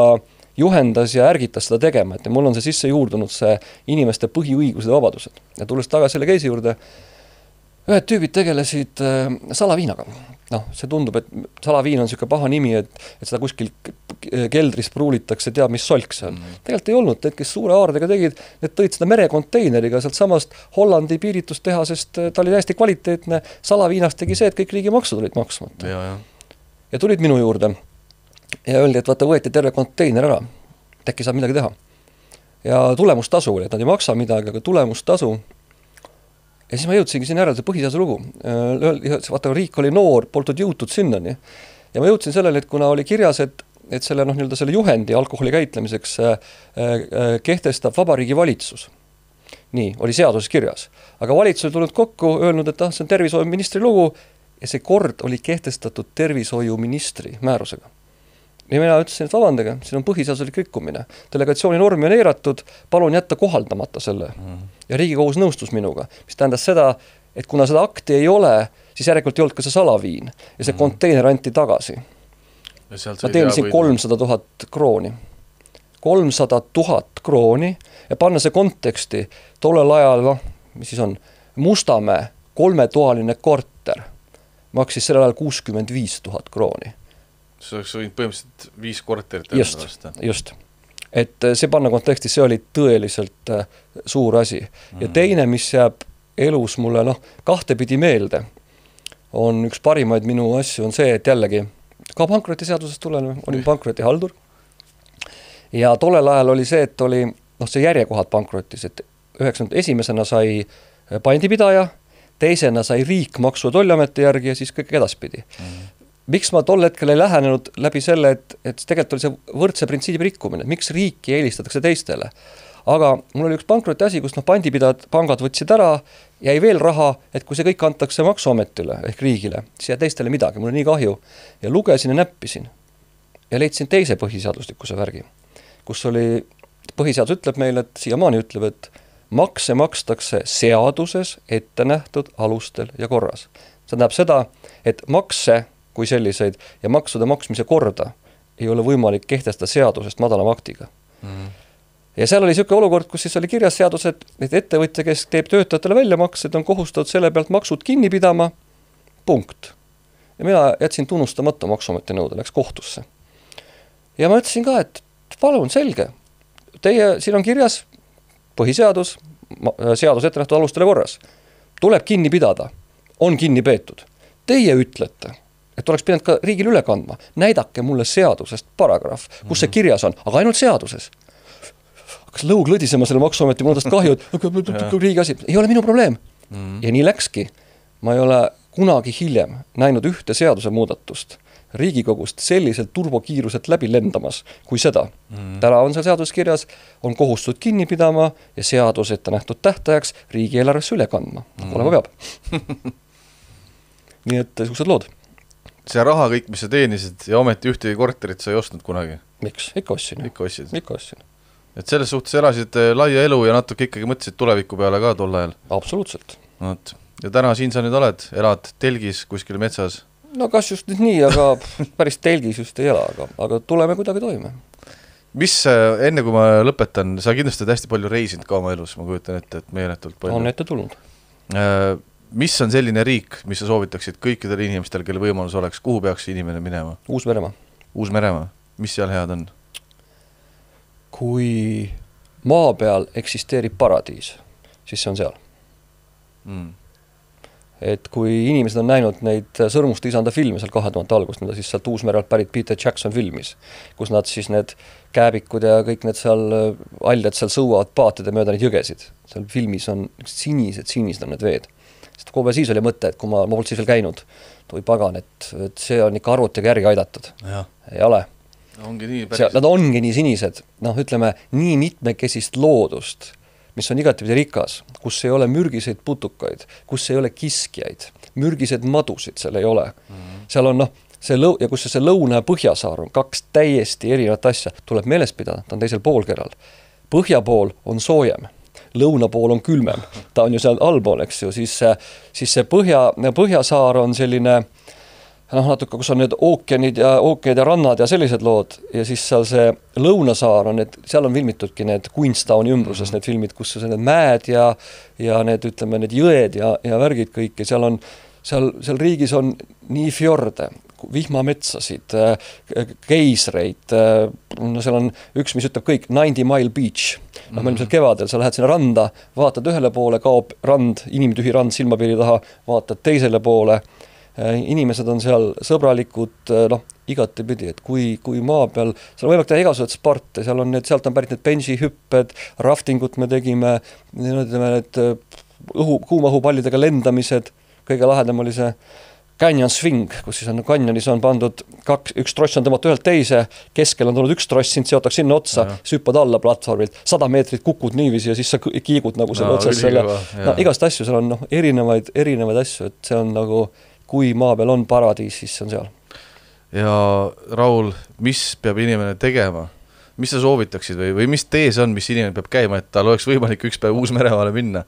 [SPEAKER 2] juhendas ja ärgitas seda tegema, et mul on see sisse juurdunud see inimeste põhiõigused ja vabadused. Ja tulles tagasi selle keisi juurde, ühed tüübid tegelesid äh, salaviinaga. Noh, see tundub, et salaviin on selline paha nimi, et, et seda kuskil keldris pruulitakse, teab, mis solk see on. Mm. Tegelikult ei olnud, et kes suure aardega tegid, need tõid seda merekonteineriga sealt samast Hollandi piiritustehasest, ta oli hästi kvaliteetne, salaviinast tegi see, et kõik riigi maksud olid maksmata.
[SPEAKER 1] Ja, ja.
[SPEAKER 2] ja tulid minu juurde ja öeldi, et vaata, võeti terve konteiner ära, äkki saab midagi teha. Ja tulemustasu oli, et nad ei maksa midagi, aga tulemustasu. Ja siis ma jõudsingi siin ära, see põhiseaduse lugu. Vaata, riik oli noor, poltud jõutud sinnani. Ja ma jõudsin sellele, et kuna oli kirjas, et, et selle, noh, nii-öelda selle juhendi alkoholi käitlemiseks äh, äh, kehtestab Vabariigi valitsus. Nii, oli seaduses kirjas. Aga valitsus oli tulnud kokku, öelnud, et ah, see on tervishoiuministri lugu ja see kord oli kehtestatud tervishoiuministri määrusega. Ja mina ütlesin, et vabandage, siin on põhiseaduslik rikkumine. Delegatsiooni normi on eiratud, palun jätta kohaldamata selle. Mm. Ja Riigikohus nõustus minuga, mis tähendas seda, et kuna seda akti ei ole, siis järelikult ei olnud ka see salaviin. Ja see mm. konteiner anti tagasi. Ma teenisin kolmsada tuhat krooni. kolmsada tuhat krooni ja panna see konteksti tollel ajal, no, mis siis on, Mustamäe kolmetoaline korter maksis sellel ajal kuuskümmend viis tuhat krooni.
[SPEAKER 1] See oleks võinud põhimõtteliselt viis korterit.
[SPEAKER 2] Just, just. Et see panna kontekstis, see oli tõeliselt suur asi. Ja teine, mis jääb elus mulle, noh, kahtepidi meelde, on üks parimaid minu asju, on see, et jällegi ka pankrotiseadusest tulen, olin pankrotihaldur. Ja tollel ajal oli see, et oli, noh, see järjekohad pankrotis, et üheksakümnendate esimesena sai pandipidaja, teisena sai riik maksu- ja tolliameti järgi ja siis kõik edaspidi. Mm. Miks ma tol hetkel ei lähenenud läbi selle, et, et tegelikult oli see võrdse printsiibi rikkumine, miks riiki eelistatakse teistele. Aga mul oli üks pankroti asi, kus noh, pandipidajad, pangad võtsid ära, jäi veel raha, et kui see kõik antakse maksuametile ehk riigile, siis jäi teistele midagi, mul on nii kahju. Ja lugesin ja näppisin ja leidsin teise põhiseaduslikkuse värgi, kus oli, põhiseadus ütleb meile, et siiamaani ütleb, et makse makstakse seaduses ette nähtud alustel ja korras. See tähendab seda, et makse kui selliseid ja maksude maksmise korda ei ole võimalik kehtestada seadusest madalama aktiga. Mm. Ja seal oli selline olukord, kus siis oli kirjas seadused, et ettevõtja, kes teeb töötajatele väljamaksed, on kohustatud selle pealt maksud kinni pidama, punkt. Ja mina jätsin tunnustamata maksuameti nõude, läks kohtusse. Ja ma ütlesin ka, et palun, selge, teie, siin on kirjas, põhiseadus, seadus ette nähtud alustele korras. Tuleb kinni pidada, on kinni peetud. Teie ütlete, et oleks pidanud ka riigil üle kandma. Näidake mulle seadusest paragrahv, kus see kirjas on, aga ainult seaduses. Kas lõug lõdisema selle maksuameti mõnedest kahju, et riigi asi, ei ole minu probleem. Mm. Ja nii läkski. Ma ei ole kunagi hiljem näinud ühte seaduse muudatust Riigikogust selliselt turbokiiruselt läbi lendamas kui seda. Mm. Täna on seal seadus kirjas, on kohustud kinni pidama ja seadus ette nähtud tähtajaks riigieelarvesse üle kandma. Mm. Olema peab. Nii et suused lood.
[SPEAKER 1] See raha kõik, mis sa teenisid ja ometi ühtegi korterit sa ei ostnud kunagi?
[SPEAKER 2] Miks? Ikka ostsin.
[SPEAKER 1] Ikka ostsid.
[SPEAKER 2] Ikka ostsin.
[SPEAKER 1] Et selles suhtes elasid laia elu ja natuke ikkagi mõtlesid tuleviku peale ka tol ajal?
[SPEAKER 2] Absoluutselt.
[SPEAKER 1] Not. Ja täna siin sa nüüd oled, elad telgis kuskil metsas?
[SPEAKER 2] No kas just nüüd nii, aga päris telgis just ei ela, aga, aga tuleme kuidagi toime.
[SPEAKER 1] Mis, enne kui ma lõpetan, sa kindlasti oled hästi palju reisinud ka oma elus, ma kujutan ette, et meeletult palju.
[SPEAKER 2] On ette tulnud.
[SPEAKER 1] Mis on selline riik, mis sa soovitaksid kõikidele inimestel, kelle võimalus oleks, kuhu peaks inimene minema?
[SPEAKER 2] Uus-Meremaa.
[SPEAKER 1] Uus-Meremaa. Mis seal head on?
[SPEAKER 2] Kui maa peal eksisteerib paradiis, siis see on seal. Mm. Et kui inimesed on näinud neid Sõrmuste isanda filme seal kahe tuhande algust, mida siis sealt Uus-Merelt pärit Peter Jackson filmis, kus nad siis need kääbikud ja kõik need seal aljad seal sõuavad paatide mööda neid jõgesid. Seal filmis on sinised, sinised on need veed. Sest kohe siis oli mõte, et kui ma, ma polnud siis veel käinud, toi pagan, et, et see on ikka arvutiga järgi aidatud. Ja. Ei ole.
[SPEAKER 1] Ongi nii päris.
[SPEAKER 2] Nad ongi nii sinised, noh ütleme, nii mitmekesist loodust, mis on igatipidi rikas, kus ei ole mürgiseid putukaid, kus ei ole kiskjaid, mürgised madusid seal ei ole. Mm-hmm. Seal on noh, see lõu- ja kus see lõuna ja põhjasaar on kaks täiesti erinevat asja, tuleb meeles pidada, ta on teisel poolkeral. Põhja pool on soojem, lõuna pool on külmem, ta on ju seal allpool, eks ju, siis, siis see põhja, põhjasaar on selline noh, natuke, kus on need ookeanid ja ookeanid ja rannad ja sellised lood ja siis seal see lõunasaar on, et seal on filmitudki need Queenstowni ümbruses mm-hmm. need filmid, kus on need mäed ja, ja need, ütleme, need jõed ja, ja värgid kõik ja seal on, seal, seal riigis on nii fjorde, vihmametsasid, keisreid, no seal on üks, mis ütleb kõik, ninety mile beach. No, mm-hmm. meil kevadel, sa lähed sinna randa, vaatad ühele poole, kaob rand, inimtühi rand silmapiiri taha, vaatad teisele poole, inimesed on seal sõbralikud, noh, igati pidi, et kui, kui maa peal, seal on võimalik teha igasugused sparte, seal on need, sealt on pärit need benji-hüpped, raftingut me tegime, need, need õhu, kuumahupallidega lendamised, kõige lahedam oli see canyon swing, kus siis on kanjonis on pandud kaks, üks tross on tõmmata ühelt teise, keskel on tulnud üks tross, sind seotaks sinna otsa, süppad alla platvormilt, sada meetrit kukud niiviisi ja siis sa kiigud nagu selle no, otsas selle, no, igast asju, seal on noh, erinevaid, erinevaid asju, et see on nagu kui maa peal on paradiis, siis see on seal.
[SPEAKER 1] Ja Raul, mis peab inimene tegema? Mis sa soovitaksid või, või mis tees on, mis inimene peab käima, et tal oleks võimalik üks päev Uus-Meremaale minna?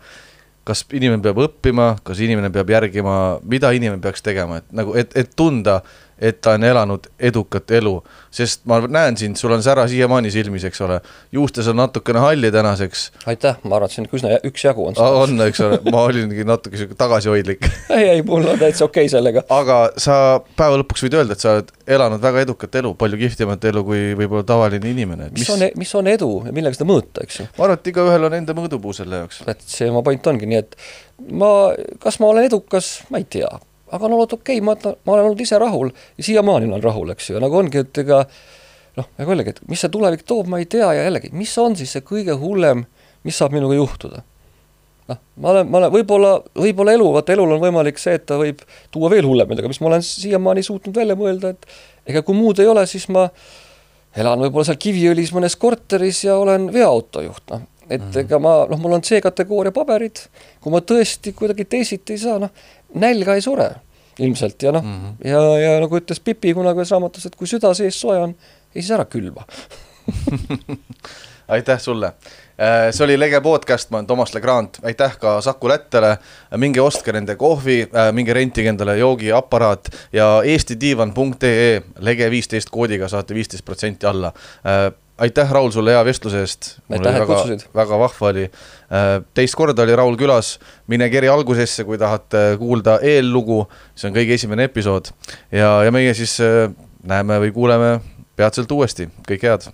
[SPEAKER 1] Kas inimene peab õppima, kas inimene peab järgima, mida inimene peaks tegema, et, nagu, et, et tunda, et ta on elanud edukat elu, sest ma näen sind, sul on sära siiamaani silmis, eks ole, juustes on natukene halli tänaseks.
[SPEAKER 2] Aitäh, ma arvan, et see on üsna üks jagu on.
[SPEAKER 1] On, eks ole, ma olingi natuke tagasihoidlik.
[SPEAKER 2] ei, ei, mul on täitsa okei sellega.
[SPEAKER 1] Aga sa päeva lõpuks võid öelda, et sa oled elanud väga edukat elu, palju kihvtimat elu kui võib-olla tavaline inimene.
[SPEAKER 2] Mis, mis, on, mis on edu ja millega seda mõõta, eks ju?
[SPEAKER 1] Ma arvan, et iga ühel on enda mõõdupuu selle jaoks.
[SPEAKER 2] Et see oma point ongi, nii et ma, kas ma olen edukas, ma ei tea. Aga on olnud okei, ma, ma olen olnud ise rahul ja siiamaani olen rahul, eks ju, ja nagu ongi, et ega noh, aga jällegi, et mis see tulevik toob, ma ei tea ja jällegi, mis on siis see kõige hullem, mis saab minuga juhtuda? Noh, ma olen, ma olen võib-olla, võib-olla elu, vaata elul on võimalik see, et ta võib tuua veel hullem, aga mis ma olen siiamaani suutnud välja mõelda, et ega kui muud ei ole, siis ma elan võib-olla seal Kiviõlis mõnes korteris ja olen veoautojuht, noh. Et mm-hmm. ega ma, noh, mul on C-kategooria paberid, kui ma tõesti kuidagi teisiti ei saa, noh, nälga ei sure ilmselt ja noh, mm-hmm. ja, ja nagu ütles Pipi kunagi ühes raamatus, et kui süda sees soe on, ei siis ära külva.
[SPEAKER 1] Aitäh sulle. See oli Lege podcast, ma olen Tomas Legrand, aitäh ka Saku Lättele, minge ostke nende kohvi, minge rentige endale joogiaparaat ja eesti diivan punkt ee Lege viisteist koodiga saate viisteist protsenti alla. Aitäh, Raul, sulle hea vestluse eest.
[SPEAKER 2] Aitäh, et kutsusid.
[SPEAKER 1] Väga vahva oli. Teist korda oli Raul külas. Mine keri algusesse, kui tahate kuulda eellugu. See on kõige esimene episood. Ja, ja meie siis näeme või kuuleme peatselt uuesti. Kõik head.